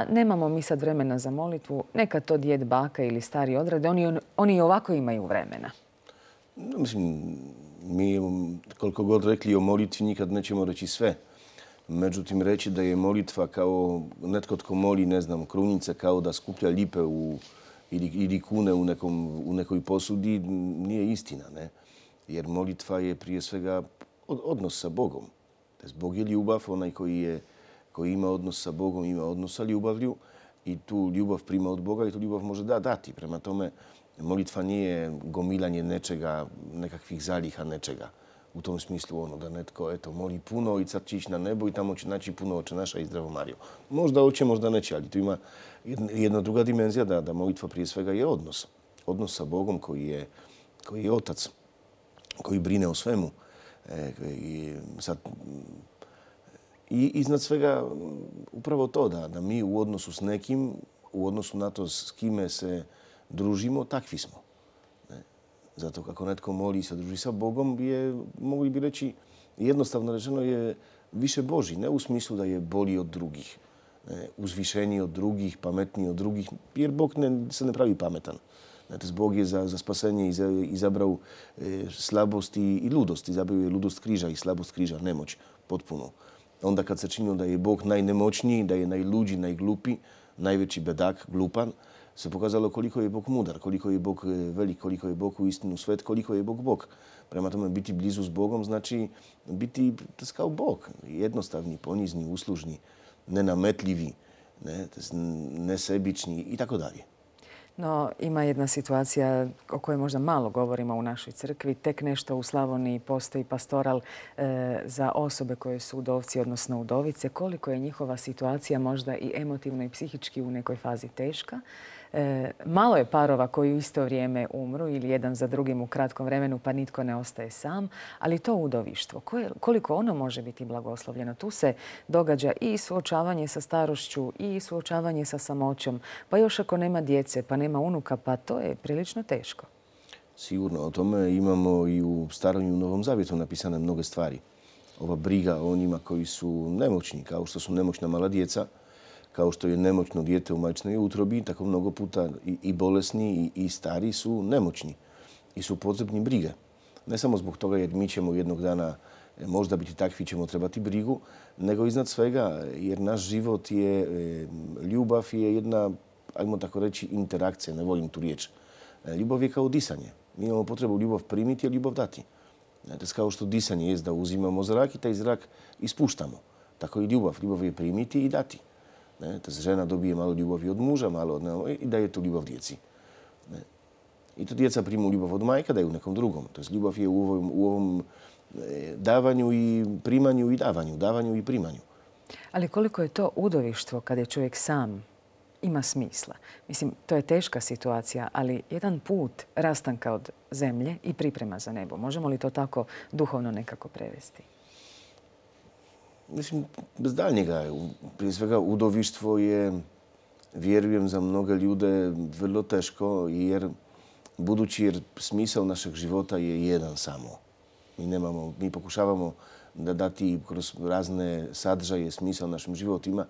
nemamo mi sad vremena za molitvu, neka to djed, baka ili stari odrade, oni i ovako imaju vremena. Mislim, mi koliko god rekli o molitvi nikad nećemo reći sve. Međutim, reći da je molitva kao netko tko moli, ne znam, krunice kao da skuplja lipe ili kune u nekoj posudi, nije istina. Ne? Jer molitva je prije svega odnos sa Bogom. Bog je ljubav, onaj koji ima odnos sa Bogom, ima odnos sa ljubavlju i tu ljubav prima od Boga i tu ljubav može dati. Prema tome, molitva nije gomilanje nečega, nekakvih zaliha nečega. U tom smislu da netko moli puno i sad će ići na nebo i tamo će naći puno Oče naša i Zdravo Marijo. Možda hoće, možda neće, ali tu ima jedna druga dimenzija da molitva prije svega je odnos. Odnos sa Bogom koji je Otac, koji brine o svemu. I iznad svega upravo to da mi u odnosu s nekim, u odnosu na to s kime se družimo, takvi smo. Zato kako netko moli i se druži sa Bogom, mogli bi reći, jednostavno rečeno je više Božji. Ne u smislu da je bolji od drugih, uzvišeniji od drugih, pametniji od drugih, jer Bog se ne pravi pametan. Bog je za spasenje izabrao slabost i ludost. Izabrao je ludost križa i slabost križa, nemoć, potpuno. Onda kad se činilo da je Bog najnemoćniji, da je najluđi, najglupi, najveći bedak, glupan, se pokazalo koliko je Bog mudar, koliko je Bog velik, koliko je Bog uistinu svet, koliko je Bog Bog. Prema tome, biti blizu s Bogom znači biti kao Bog. Jednostavni, ponizni, uslužni, nenametljivi, nesebični i tako dalje. No, ima jedna situacija o kojoj možda malo govorimo u našoj crkvi. Tek nešto u Slavoniji postoji pastoral za osobe koje su udovci, odnosno udovice. Koliko je njihova situacija možda i emotivno i psihički u nekoj fazi teška. Malo je parova koji u isto vrijeme umru ili jedan za drugim u kratkom vremenu pa nitko ne ostaje sam, ali to udovištvo, koliko ono može biti blagoslovljeno. Tu se događa i suočavanje sa starošću i suočavanje sa samoćom, pa još ako nema djece, pa nema unuka, pa to je prilično teško. Sigurno, o tome imamo i u Starom i u Novom Zavjetu napisane mnoge stvari. Ova briga o onima koji su nemoćni, kao što su nemoćna mala djeca, kao što je nemoćno dijete u majčinoj utrobi, tako mnogo puta i bolesni i stari su nemoćni i su potrebni brige. Ne samo zbog toga jer mi ćemo jednog dana možda biti takvi ćemo trebati brigu, nego iznad svega, jer naš život je, ljubav je jedna, ajmo tako reći, interakcija, ne volim tu riječ. Ljubav je kao disanje. Mi imamo potrebu ljubav primiti, a ljubav dati. To je kao što disanje je da uzimamo zrak i taj zrak ispuštamo. Tako i ljubav. Ljubav je primiti i dati. To žena dobije malo ljubavi od muža, malo od i daje tu ljubav djeci. I to djeca primu ljubav od majka, daju nekom drugom. To je ljubav je u ovom davanju i primanju i davanju i primanju. Ali koliko je to udovištvo kad je čovjek sam ima smisla? Mislim, to je teška situacija, ali jedan put rastanka od zemlje i priprema za nebo. Možemo li to tako duhovno nekako prevesti? Mislim, bez daljnjega. Prije svega, udovištvo je, vjerujem, za mnoge ljude vrlo teško, budući smisao našeg života je jedan samo. Mi pokušavamo da dati kroz razne sadržaje smisao našim životima,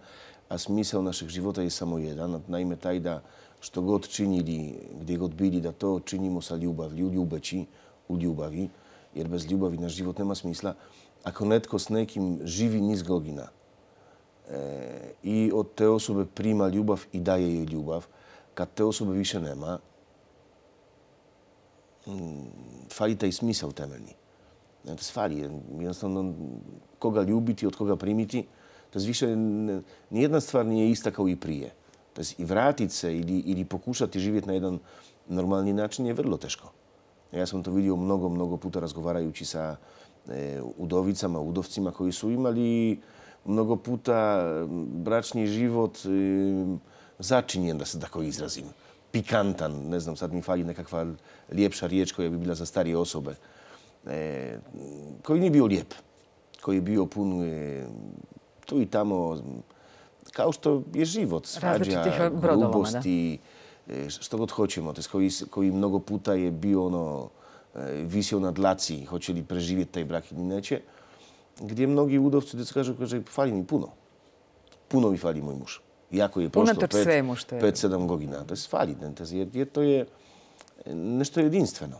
a smisao našeg života je samo jedan. Naime, taj da što god činili, gdje god bili, da to činimo sa ljubavlju, ljubeći u ljubavi, jer bez ljubavi naš život nema smisla. Ako netko s nekim živi niz godina i od te osobe prima ljubav i daje joj ljubav, kad te osobe više nema, fali taj smisao temeljni. To fali. Jednostavno, koga ljubiti, od koga primiti, to više nijedna stvar nije ista kao i prije. To i vratiti se ili pokušati živjeti na jedan normalni način je vrlo teško. Ja sam to vidio mnogo puta razgovarajući sa udovicama, udovcima koji su imali mnogo puta bračni život začinjen, da se tako izrazim. Pikantan, ne znam, sad mi fali nekakva ljepša riječ koja bi bila za starije osobe. Koji nije bio lijep, koji je bio pun tu i tamo, kao što je život, svađa, grubosti, što god hoćemo, koji mnogo puta je bio visio na dlaci, hoće li preživjeti taj brak ili neće, gdje mnogi udovci kažu, fali mi puno. Puno mi fali moj muž. Iako je prošlo 5-7 godina. To je fali, jer to je nešto jedinstveno.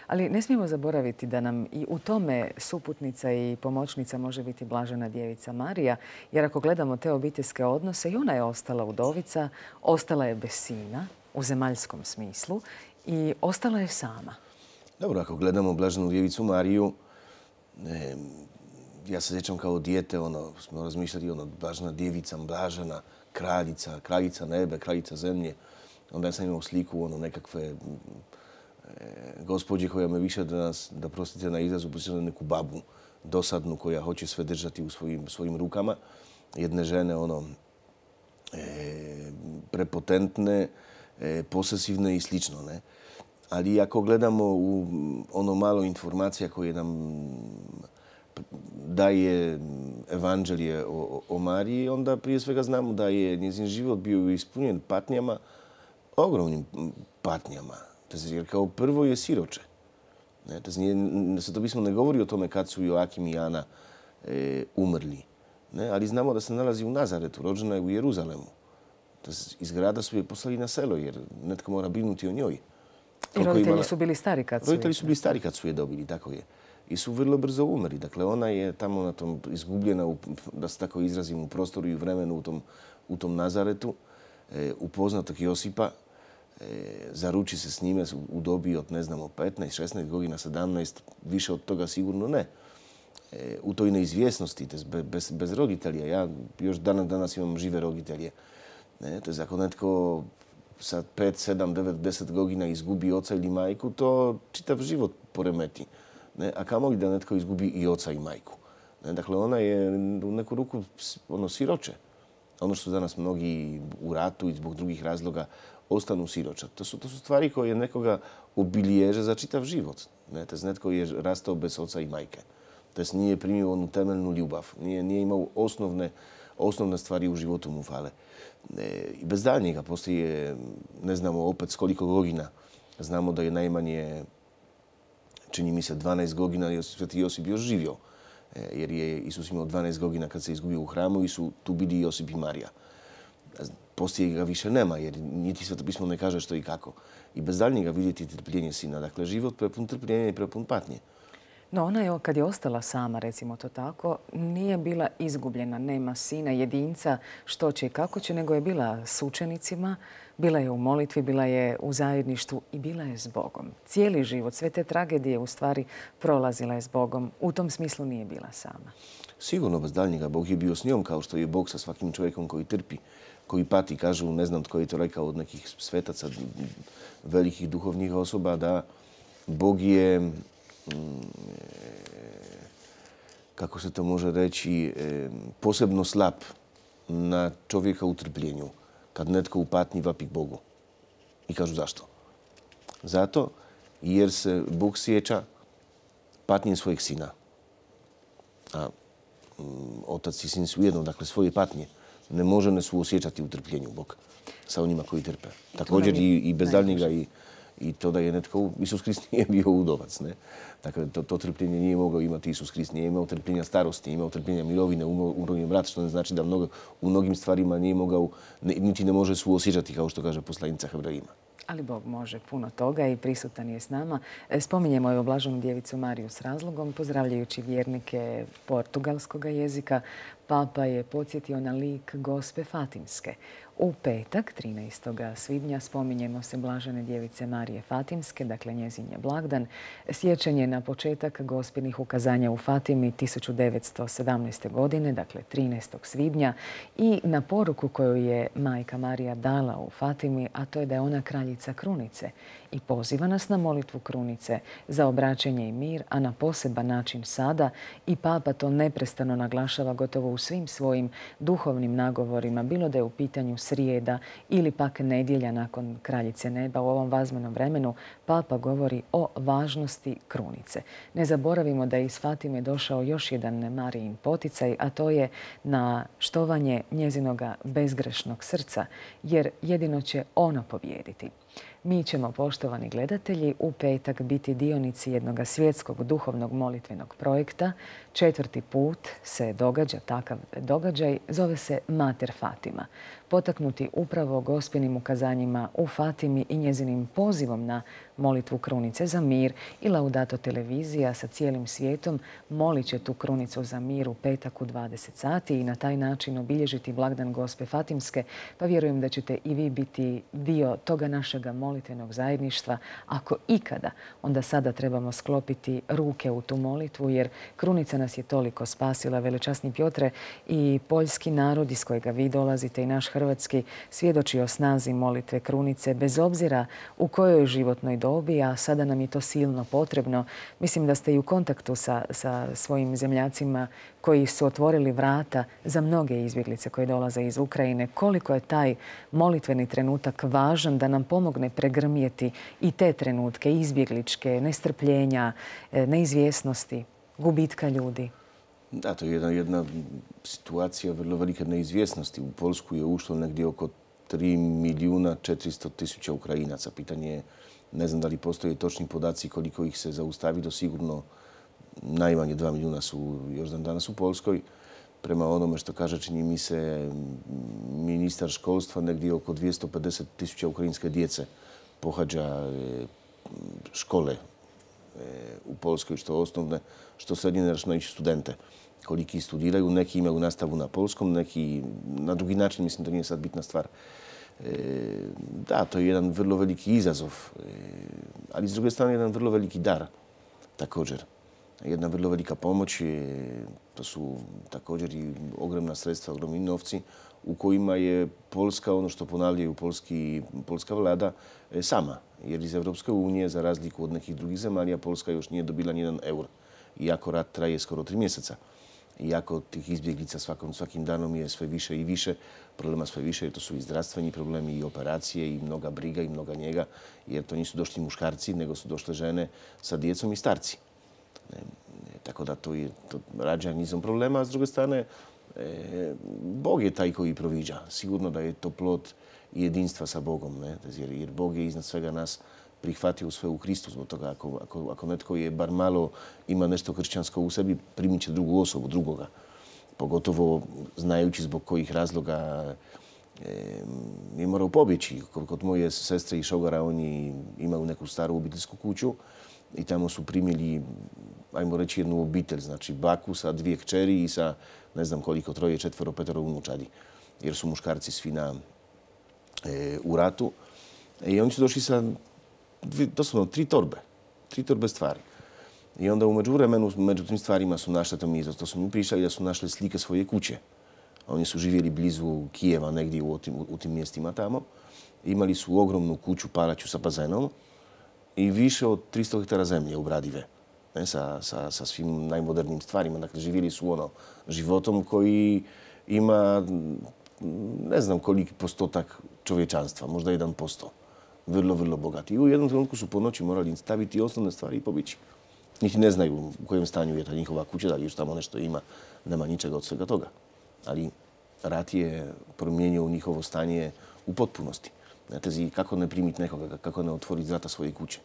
Ali ne smijemo zaboraviti da nam i u tome suputnica i pomoćnica može biti Blažena djevica Marija, jer ako gledamo te obiteljske odnose, i ona je ostala udovica, ostala je bez sina u zemaljskom smislu i ostala je sama. Dobro, ako gledamo Blaženu djevicu Mariju, ja se sjećam kao dijete, smo razmišljali, Blažena djevica, Blažena, kraljica nebe, kraljica zemlje. Onda ja sam imao sliku nekakve gospođe koja me više da prostite na izrazu, posjeća neku babu dosadnu koja hoće sve držati u svojim rukama. Jedne žene prepotentne, posesivne i slično. Ali ako gledamo u malo informacija koje nam daje evanđelje o Mariji, onda prije svega znamo da je njezin život bio ispunjen patnjama, ogromnim patnjama. Jer kao prvo je siroče. Sveto pismo ne govori o tome kad su Joakim i Ana umrli. Ali znamo da se nalazi u Nazaretu, rođena je u Jeruzalemu. Iz grada su je poslali na selo jer netko mora brinuti o njoj. I roditelji su bili stari kad su je. Roditelji su bili stari kad su je dobili, tako je. I su vrlo brzo umrli. Dakle, ona je tamo na tom izgubljena, da se tako izrazim, u prostoru i vremenu u tom Nazaretu, upoznatog Josipa, zaruči se s njime u dobi od, 15, 16 godina, 17, više od toga sigurno ne. U toj neizvjesnosti, bez roditelja. Ja još danas imam žive roditelje. To je ako netko sa 5, 7, 9, 10 godina izgubi oca ili majku, to čitav život poremeti. A kamoli da netko izgubi i oca i majku. Dakle, ona je u neku ruku siroče. Ono što danas mnogi u ratu i zbog drugih razloga ostanu siroča. To su stvari koje nekoga obilježe za čitav život. Netko je rastao bez oca i majke. Nije primio onu temeljnu ljubav. Nije imao osnovne stvari u životu mu fale. I bez daljnjega postoje, ne znamo opet s koliko godina. Znamo da je najmanje, čini mi se, 12 godina Sveti Josip još živio. Jer je Isus imao 12 godina kad se izgubio u hramu i su tu bili Josip i Marija. Poslije ga više nema jer niti Sveto pismo ne kaže što i kako. I bez daljnjega vidjeti trpljenje sina. Dakle, život prepun trpljenja i prepun patnje. No ona je, kad je ostala sama, recimo to tako, nije bila izgubljena, nema sina, jedinca, što će i kako će, nego je bila s učenicima, bila je u molitvi, bila je u zajedništvu i bila je s Bogom. Cijeli život, sve te tragedije u stvari prolazila je s Bogom. U tom smislu nije bila sama. Sigurno, bez daljnjega. Bog je bio s njom, kao što je Bog sa svakim čovjekom koji trpi, koji pati. Kažu, ne znam tko je to rekao od nekih svetaca, velikih duhovnih osoba, da Bog je, kako se to može reći, posebno slab na čovjeka u trpljenju. Kad netko u patnji vapi k Bogu. I kažu zašto? Zato jer se Bog sjeća patnje svojeg sina. A otac i sin su jedno, dakle svoje patnje ne može ne suosjećati u trpljenju Bog sa onima koji trpe. Također i bez daljnjega i to da je netko, Isus Krist nije bio udovac. Ne? Dakle, to trpljenje nije mogao imati Isus Krist. Nije imao trpljenja starosti, nije imao trpljenja mirovine, umrovljen brat, što ne znači da u mnogim stvarima nije mogao, niti ne može suosjećati, kao što kaže poslanica Hebrejima. Ali Bog može puno toga i prisutan je s nama. Spominjemo evo Blaženu djevicu Mariju s razlogom, pozdravljajući vjernike portugalskog jezika. Papa je podsjetio na lik Gospe Fatimske. U petak, 13. svibnja, spominjemo se Blažene djevice Marije Fatimske, dakle njezin je blagdan. Sjećanje na početak Gospinih ukazanja u Fatimi 1917. godine, dakle 13. svibnja, i na poruku koju je majka Marija dala u Fatimi, a to je da je ona kraljica krunice i poziva nas na molitvu krunice za obraćenje i mir, a na poseban način sada, i Papa to neprestano naglašava gotovo u svim svojim duhovnim nagovorima, bilo da je u pitanju srijeda ili pak nedjelja nakon Kraljice neba. U ovom važnom vremenu Papa govori o važnosti krunice. Ne zaboravimo da je iz Fatime došao još jedan Marijin poticaj, a to je na štovanje njezinoga bezgrešnog srca, jer jedino će ono pobijediti. Mi ćemo, poštovani gledatelji, u petak biti dionici jednog svjetskog duhovnog molitvenog projekta. 4. put se događa takav događaj, zove se Mater Fatima. Potaknuti upravo Gospinim ukazanjima u Fatimi i njezinim pozivom na molitvu krunice za mir, i Laudato televizija sa cijelim svijetom molit će tu krunicu za mir u petak u 20 sati i na taj način obilježiti blagdan Gospe Fatimske, pa vjerujem da ćete i vi biti dio toga našega molitvenog zajedništva. Ako ikada, onda sada trebamo sklopiti ruke u tu molitvu, jer krunica nas je toliko spasila. Velečasni Piotre, i poljski narod iz kojega vi dolazite i naš hrvatski svjedoči o snazi molitve krunice bez obzira u kojoj životnoj dobi, a sada nam je to silno potrebno. Mislim da ste i u kontaktu sa svojim zemljacima koji su otvorili vrata za mnoge izbjeglice koje dolaze iz Ukrajine. Koliko je taj molitveni trenutak važan da nam pomogne pregrmjeti i te trenutke izbjegličke, nestrpljenja, neizvjesnosti, gubitka ljudi? Da, to je jedna situacija vrlo velike neizvjesnosti. U Poljsku je ušlo negdje oko 3.400.000 Ukrajinaca. Pitanje je, ne znam da li postoje točni podaci koliko ih se zaustavi, do sigurno najmanje 2 milijuna su još dan danas u Poljskoj. Prema onome što kaže, čini mi se, ministar školstva, negdje oko 250.000 ukrajinske djece pohađa škole u Poljskoj, što osnovne, što srednje računajući studente. Koliki studiraju, neki imaju nastavu na polskom, neki na drugi način, mislim da nije sad bitna stvar. Da, to je jedan vrlo veliki izazov, ali s druge strane jedan vrlo veliki dar također. Jedna vrlo velika pomoć, to su također i ogromna sredstva, ogromni novci u kojima je Poljska, ono što ponavljaju polska vlada, sama. Jer iz Evropske unije, za razliku od nekih drugih zemalja, Poljska još nije dobila nijedan eur. Iako rat traje skoro 3 mjeseca. Iako tih izbjeglica svakim danom je sve više i više, problema sve više, jer to su i zdravstveni problemi, i operacije, i mnoga briga, i mnoga njega, jer to nisu došli muškarci, nego su došle žene sa djecom i starci. Tako da to rađa nizom problema, a s druge strane, Bog je taj koji proviđa. Sigurno da je to plod jedinstva sa Bogom, jer Bog je iznad svega nas prihvatio sve u Kristu. Zbog toga ako netko je bar malo ima nešto kršćansko u sebi, primit će drugu osobu, drugoga. Pogotovo znajući zbog kojih razloga je morao pobjeći. Kod moje sestre i šogara, oni imaju neku staru obiteljsku kuću i tamo su primili, ajmo reći, jednu obitelj, znači baku sa 2 kćeri i sa ne znam koliko, 3, 4, 5 unučadi, jer su muškarci svi u ratu. I oni su došli sa doslovno 3 torbe stvari. I onda u međuvremenu, među tim stvarima su našli, to su mi pričali da su našli slike svoje kuće. Oni su živjeli blizu Kijeva, negdje u tim mjestima tamo. Imali su ogromnu kuću, palaču sa bazenom i više od 300 hektara zemlje obradive. Sa svim najmodernijim stvarima. Dakle, živjeli su životom koji ima ne znam koliki postotak čovječanstva, možda 1%. Vrlo, vrlo bogati. I u jednom trenutku su po noći morali staviti osnovne stvari i pobići. Niti ne znaju u kojem stanju je ta njihova kuća, da li još tamo nešto ima, nema ničega od svega toga. Ali rat je promijenio njihovo stanje u potpunosti. Znate, kako ne primiti nekoga, kako ne otvoriti vrata svoje kuće.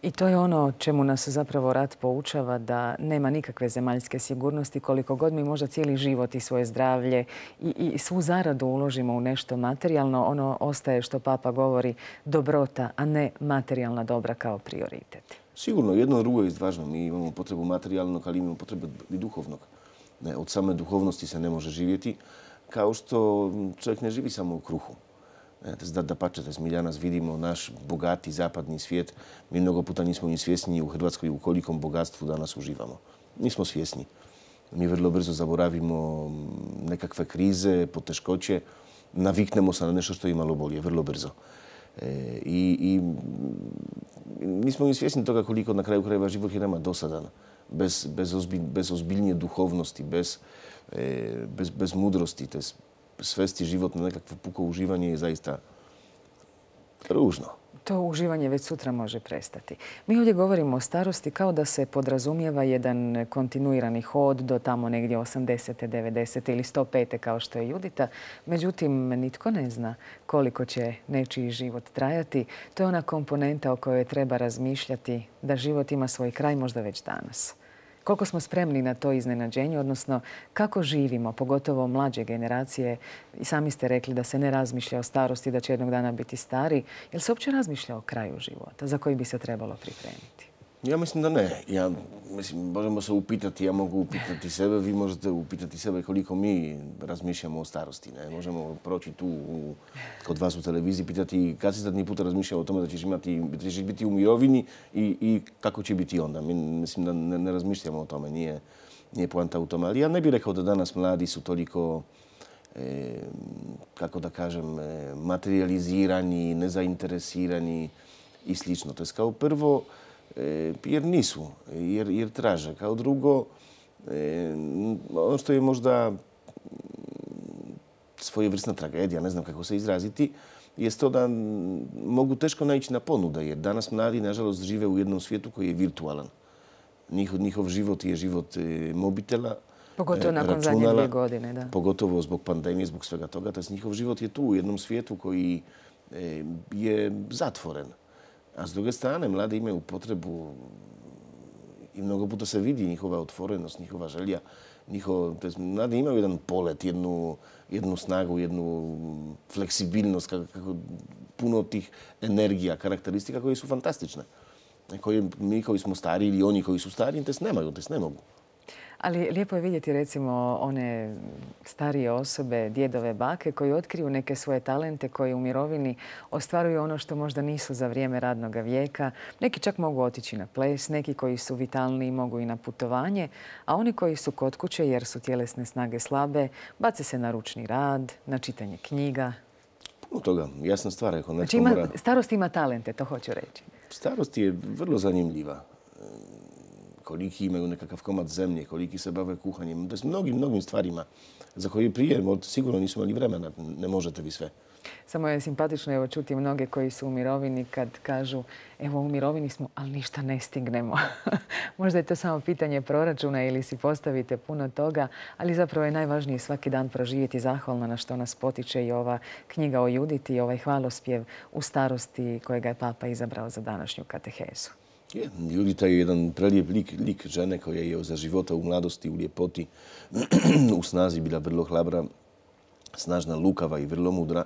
I to je ono čemu nas zapravo rat poučava, da nema nikakve zemaljske sigurnosti koliko god mi možda cijeli život i svoje zdravlje i svu zaradu uložimo u nešto materijalno, ono ostaje, što Papa govori, dobrota, a ne materijalna dobra kao prioritet. Sigurno, jedno drugo je važno. Mi imamo potrebu materijalnog, ali imamo potrebu i duhovnog. Od same duhovnosti se ne može živjeti, kao što čovjek ne živi samo u kruhu. Dapače, mi danas vidimo naš bogati zapadni svijet. Mi mnogo puta nismo ni svjesni u Hrvatskoj u kolikom bogatstvu danas uživamo. Nismo svjesni. Mi vrlo brzo zaboravimo nekakve krize, poteškoće. Naviknemo se na nešto što je malo bolje, vrlo brzo. I nismo ni svjesni toga koliko na kraju krajeva život je nama dosadan. Bez ozbiljnije duhovnosti, bez mudrosti, te svesti život na nekakvo puko uživanje je zaista ružno. To uživanje već sutra može prestati. Mi ovdje govorimo o starosti kao da se podrazumijeva jedan kontinuirani hod do tamo negdje 80. 90. ili 105. kao što je Judita. Međutim, nitko ne zna koliko će nečiji život trajati. To je ona komponenta o kojoj treba razmišljati, da život ima svoj kraj možda već danas. Koliko smo spremni na to iznenađenje, odnosno kako živimo, pogotovo mlađe generacije. I sami ste rekli da se ne razmišlja o starosti, da će jednog dana biti stari. Jel se uopće razmišlja o kraju života za koji bi se trebalo pripremiti? Ja mislim da ne. Možemo se upitati, ja mogu upitati sebe, vi možete upitati sebe koliko mi razmišljamo o starosti. Ne? Možemo proći tu kod vas u televiziji, pitati kad si zadnji puta razmišljao o tome da ćeš biti u mirovini i kako će biti onda. Mislim da ne razmišljamo o tome, nije poanta u tome. Ali ja ne bih rekao da danas mladi su toliko, kako da kažem, materializirani, nezainteresirani i slično. To je kao prvo, jer nisu, jer traže. Kao drugo, ono što je možda svojevrsna tragedija, ne znam kako se izraziti, je to da mogu teško naići na ponude, jer danas mladi, nažalost, žive u jednom svijetu koji je virtualan. Njihov život je život mobitela, pogotovo nakon zadnje 2 godine, da. Pogotovo zbog pandemije, zbog svega toga. Njihov život je tu u jednom svijetu koji je zatvoren. A s druge strane, mladi imaju potrebu i mnogo puta se vidi njihova otvorenost, njihova želja. Mladi imaju jedan polet, jednu snagu, jednu fleksibilnost, puno tih energija, karakteristika koje su fantastične. Mi koji smo stari ili oni koji su stari, te nemaju, te ne mogu. Ali lijepo je vidjeti recimo one starije osobe, djedove, bake koji otkriju neke svoje talente, koji u mirovini ostvaruju ono što možda nisu za vrijeme radnog vijeka. Neki čak mogu otići na ples, neki koji su vitalniji mogu i na putovanje, a oni koji su kod kuće jer su tjelesne snage slabe, bace se na ručni rad, na čitanje knjiga. Puno toga, jasna stvar. Znači starost ima talente, to hoću reći. Starost je vrlo zanimljiva. Koliki imaju nekakav komad zemlje, koliki se bave kuhanjem. To je mnogim stvarima za koje prije sigurno nisu imali vremena. Ne možete vi sve. Samo je simpatično čuti mnoge koji su u mirovini kad kažu evo u mirovini smo, ali ništa ne stignemo. Možda je to samo pitanje proračuna ili si postavite puno toga, ali zapravo je najvažnije svaki dan proživjeti zahvalno na što nas potiče i ova knjiga o Juditi i ovaj hvalospjev u starosti kojega je Papa izabrao za današnju katehezu. Judita je jedan prelijep lik žene koja je za života u mladosti, u ljepoti, u snazi bila vrlo hlabra, snažna, lukava i vrlo mudra.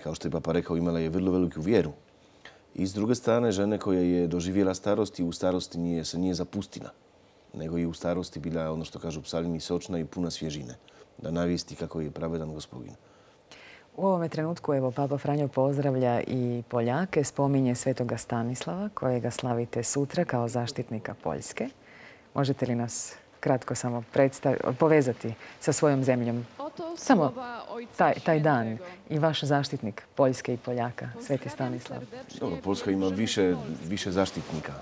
Kao što je Papa rekao, imala je vrlo veliku vjeru. I s druge strane, žene koja je doživjela starost i u starosti se nije zapustila, nego i u starosti bila, ono što kažu psalmi, sočna i puna svježine, da navijesti kako je pravedan Gospodin. U ovome trenutku, evo, Papa Franjo pozdravlja i Poljake, spominje svetoga Stanislava, kojega slavite sutra kao zaštitnika Poljske. Možete li nas kratko samo povezati sa svojom zemljom? Samo taj dan i vaš zaštitnik Poljske i Poljaka, sveti Stanislav. Dobro, Poljska ima više zaštitnika.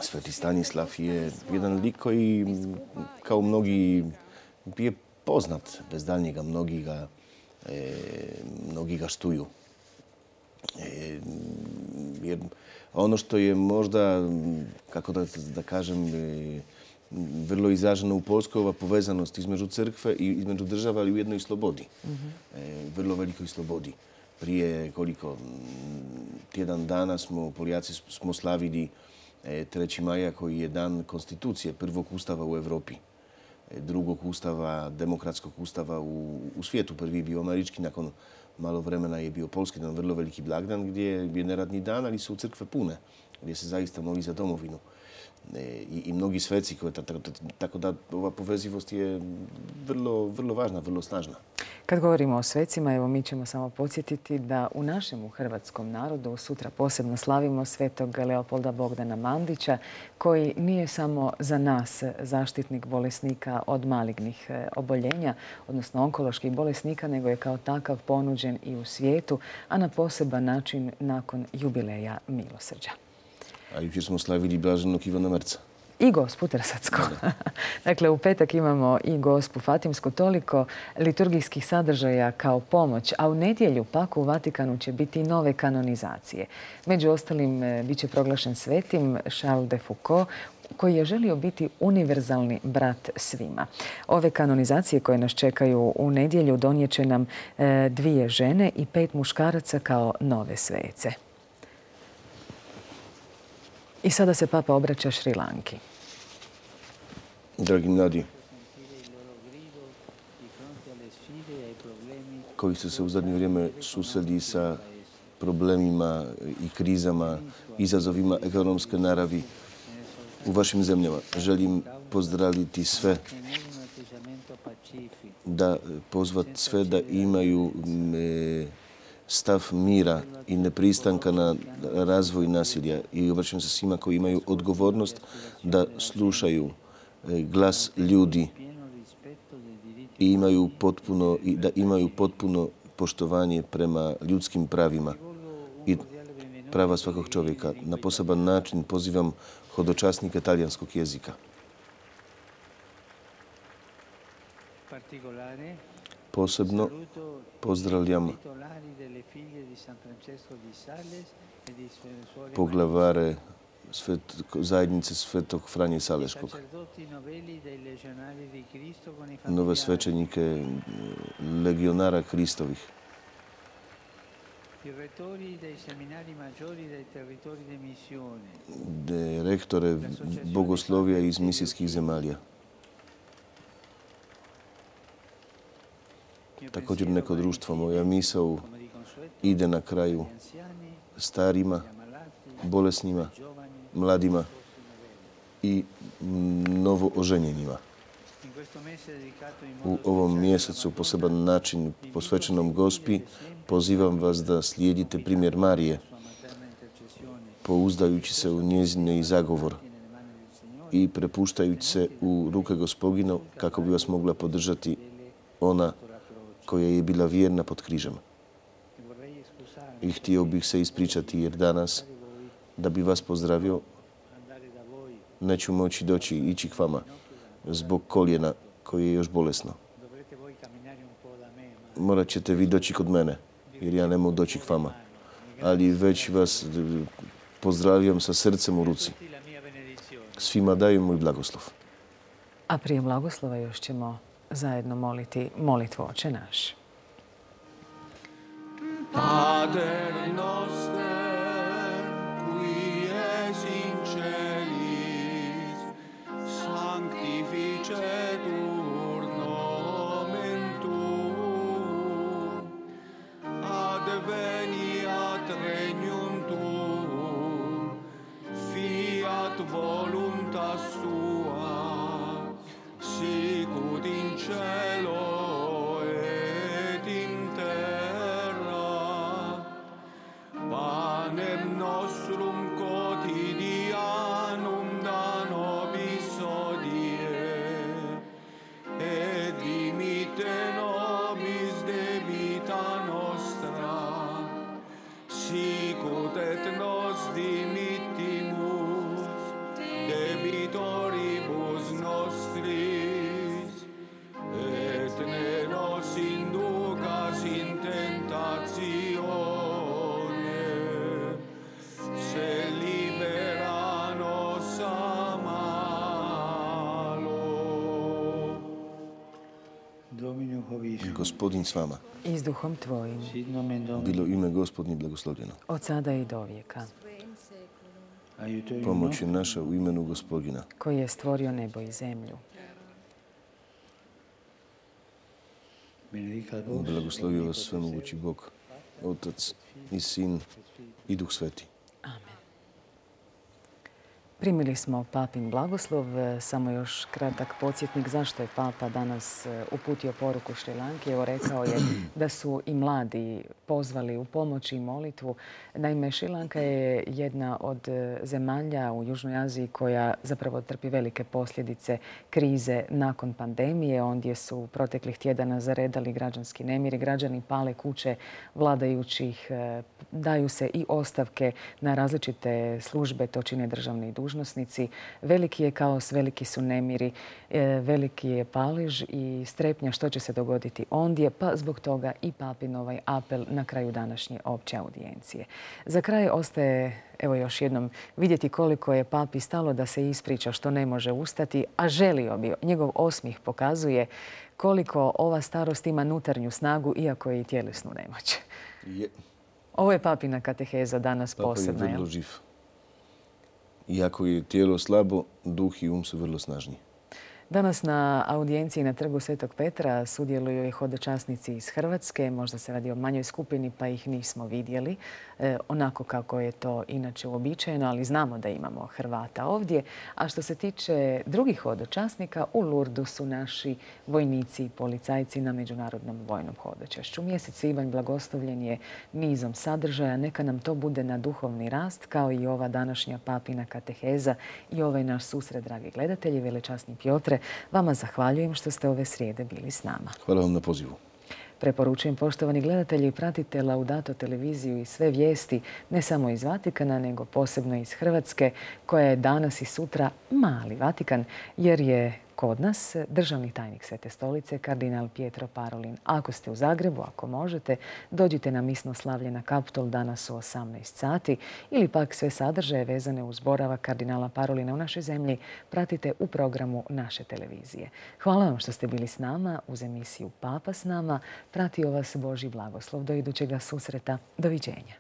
Sveti Stanislav je jedan lik koji, kao mnogi, je poznat bez daljnjega. Mnogi ga štuju. Jer ono što je možda, kako da kažem, vrlo izraženo u Poljskoj, ova povezanost između crkve i između država, ali u jednoj slobodi. Vrlo velikoj slobodi. Prije tjedan dana Poljaci smo slavili 3. maja, koji je dan konstitucije, prvog ustava u Europi, drugog ustava, demokratskog ustava u svijetu. Prvi je bio američki, nakon malo vremena je bio poljski, jedan vrlo veliki blagdan gdje je neradni dan, ali su crkve pune, gdje se zaista moli za domovinu. I mnogi sveci, tako da ova povezivost je vrlo važna, vrlo snažna. Kad govorimo o svecima, evo mi ćemo samo podsjetiti da u našem hrvatskom narodu sutra posebno slavimo svetog Leopolda Bogdana Mandića, koji nije samo za nas zaštitnik bolesnika od malignih oboljenja, odnosno onkoloških bolesnika, nego je kao takav ponuđen i u svijetu, a na poseban način nakon jubileja milosrđa. A jučer smo slavili blaženog Ivana Mrca. I Gospu Trsatsku. Dakle, u petak imamo i Gospu Fatimsku, toliko liturgijskih sadržaja kao pomoć, a u nedjelju pak u Vatikanu će biti nove kanonizacije. Među ostalim, bit će proglašen svetim Charles de Foucault, koji je želio biti univerzalni brat svima. Ove kanonizacije koje nas čekaju u nedjelju donijet će nam 2 žene i 5 muškaraca kao nove svece. I sada se Papa obraća Šri Lanki. Dragi mladi, koji su se u zadnje vrijeme susreli sa problemima i krizama, izazovima ekonomske naravi u vašim zemljama, želim pozdraviti sve, pozvati sve da imaju stav mira i nepristanka na razvoj nasilja. I obraćam se svima koji imaju odgovornost da slušaju glas ljudi i da imaju potpuno poštovanje prema ljudskim pravima i prava svakog čovjeka. Na poseban način pozivam hodočasnike talijanskog jezika. Posebno pozdravljam poglavare zajednice Svetog Franje Saleškog, nove svećenike legionara Kristovih, rektore bogoslovija iz misijskih zemalja. Također neko društvo, moja misao ide na kraju starima, bolesnima, mladima i novo oženjenima. U ovom mjesecu poseban način posvećenom Gospi pozivam vas da slijedite primjer Marije, pouzdajući se u njezine zagovor i prepuštajući se u ruke Gospodino kako bi vas mogla podržati ona koja je bila vjerna pod križem. I htio bih se ispričati jer danas, da bi vas pozdravio, neću moći ići k vama zbog koljena koje je još bolesno. Morat ćete vi doći kod mene jer ja ne mogu doći k vama. Ali već vas pozdravljam sa srcem u ruci. Svima dajem moj blagoslov. A prije blagoslova još ćemo zajedno moliti molitvu Oče naš. Pater noster, qui es in celis, sanctificetur nomen tuum, veniat regnum tuum, fiat voluntas tua, sicut in cielo et in terra. Panem nostrum quotidianum da nobis hodie, et dimitte nobis debita nostra, sicut et nos dimittimus debitoribus nostris, et ne nos inducas in tentatione, se libera nos a malo. Domino Hovišum, Gospodin s vama. I s duhom tvojim, sit nomen Domini, Bilo ime Gospodnje blagoslovljeno. od sada i do vijeka, aiutorium Pomoć je naša u imenu Gospodina. koji je stvorio nebo i zemlju. benedicat vos, Blagoslovio vas svemogući Bog, Otac i Sin i Duh Sveti. Amen. Primili smo papin blagoslov. Samo još kratak podsjetnik zašto je papa danas uputio poruku Šrilanki. Evo, rekao je da su i mladi pozvali u pomoć i molitvu. Naime, Šrilanka je jedna od zemalja u Južnoj Aziji koja zapravo trpi velike posljedice krize nakon pandemije. Ondje su proteklih tjedana zaredali građanski nemiri. Građani pale kuće vladajućih, daju se i ostavke na različite službe, to čine državni dužnosnici. Veliki je kaos, veliki su nemiri, veliki je palež i strepnja što će se dogoditi ondje, pa zbog toga i papin ovaj apel na kraju današnje opće audijencije. Za kraj ostaje evo još jednom vidjeti koliko je papi stalo da se ispriča što ne može ustati, a želio bi. Njegov osmijeh pokazuje koliko ova starost ima unutarnju snagu, iako je i tjelesnu nemoć. Ovo je papina kateheza danas posebna. Papa je vrlo živ. Iako je tijelo slabo, duh i um su vrlo snažni. Danas na audijenciji na Trgu Svetog Petra sudjeluju i hodočasnici iz Hrvatske. Možda se radi o manjoj skupini pa ih nismo vidjeli. Onako kako je to inače uobičajeno, ali znamo da imamo Hrvata ovdje. A što se tiče drugih hodočasnika, u Lurdu su naši vojnici i policajci na Međunarodnom vojnom hodočašću. Mjesec svibanj blagoslovljen je nizom sadržaja. Neka nam to bude na duhovni rast, kao i ova današnja papina kateheza i ovaj naš susret, dragi gledatelji. Velečasni Piotre, vama zahvaljujem što ste ove srijede bili s nama. Hvala vam na pozivu. Preporučujem, poštovani gledatelji, pratite Laudato televiziju i sve vijesti, ne samo iz Vatikana, nego posebno iz Hrvatske, koja je danas i sutra mali Vatikan, jer je kod nas državni tajnik Svete stolice, kardinal Pietro Parolin. Ako ste u Zagrebu, ako možete, dođite na misno slavlje na Kaptol danas u 18 sati ili pak sve sadržaje vezane uz boravak kardinala Parolina u našoj zemlji pratite u programu naše televizije. Hvala vam što ste bili s nama uz emisiju Papa s nama. Pratio vas Božji blagoslov. Do idućega susreta. Doviđenja.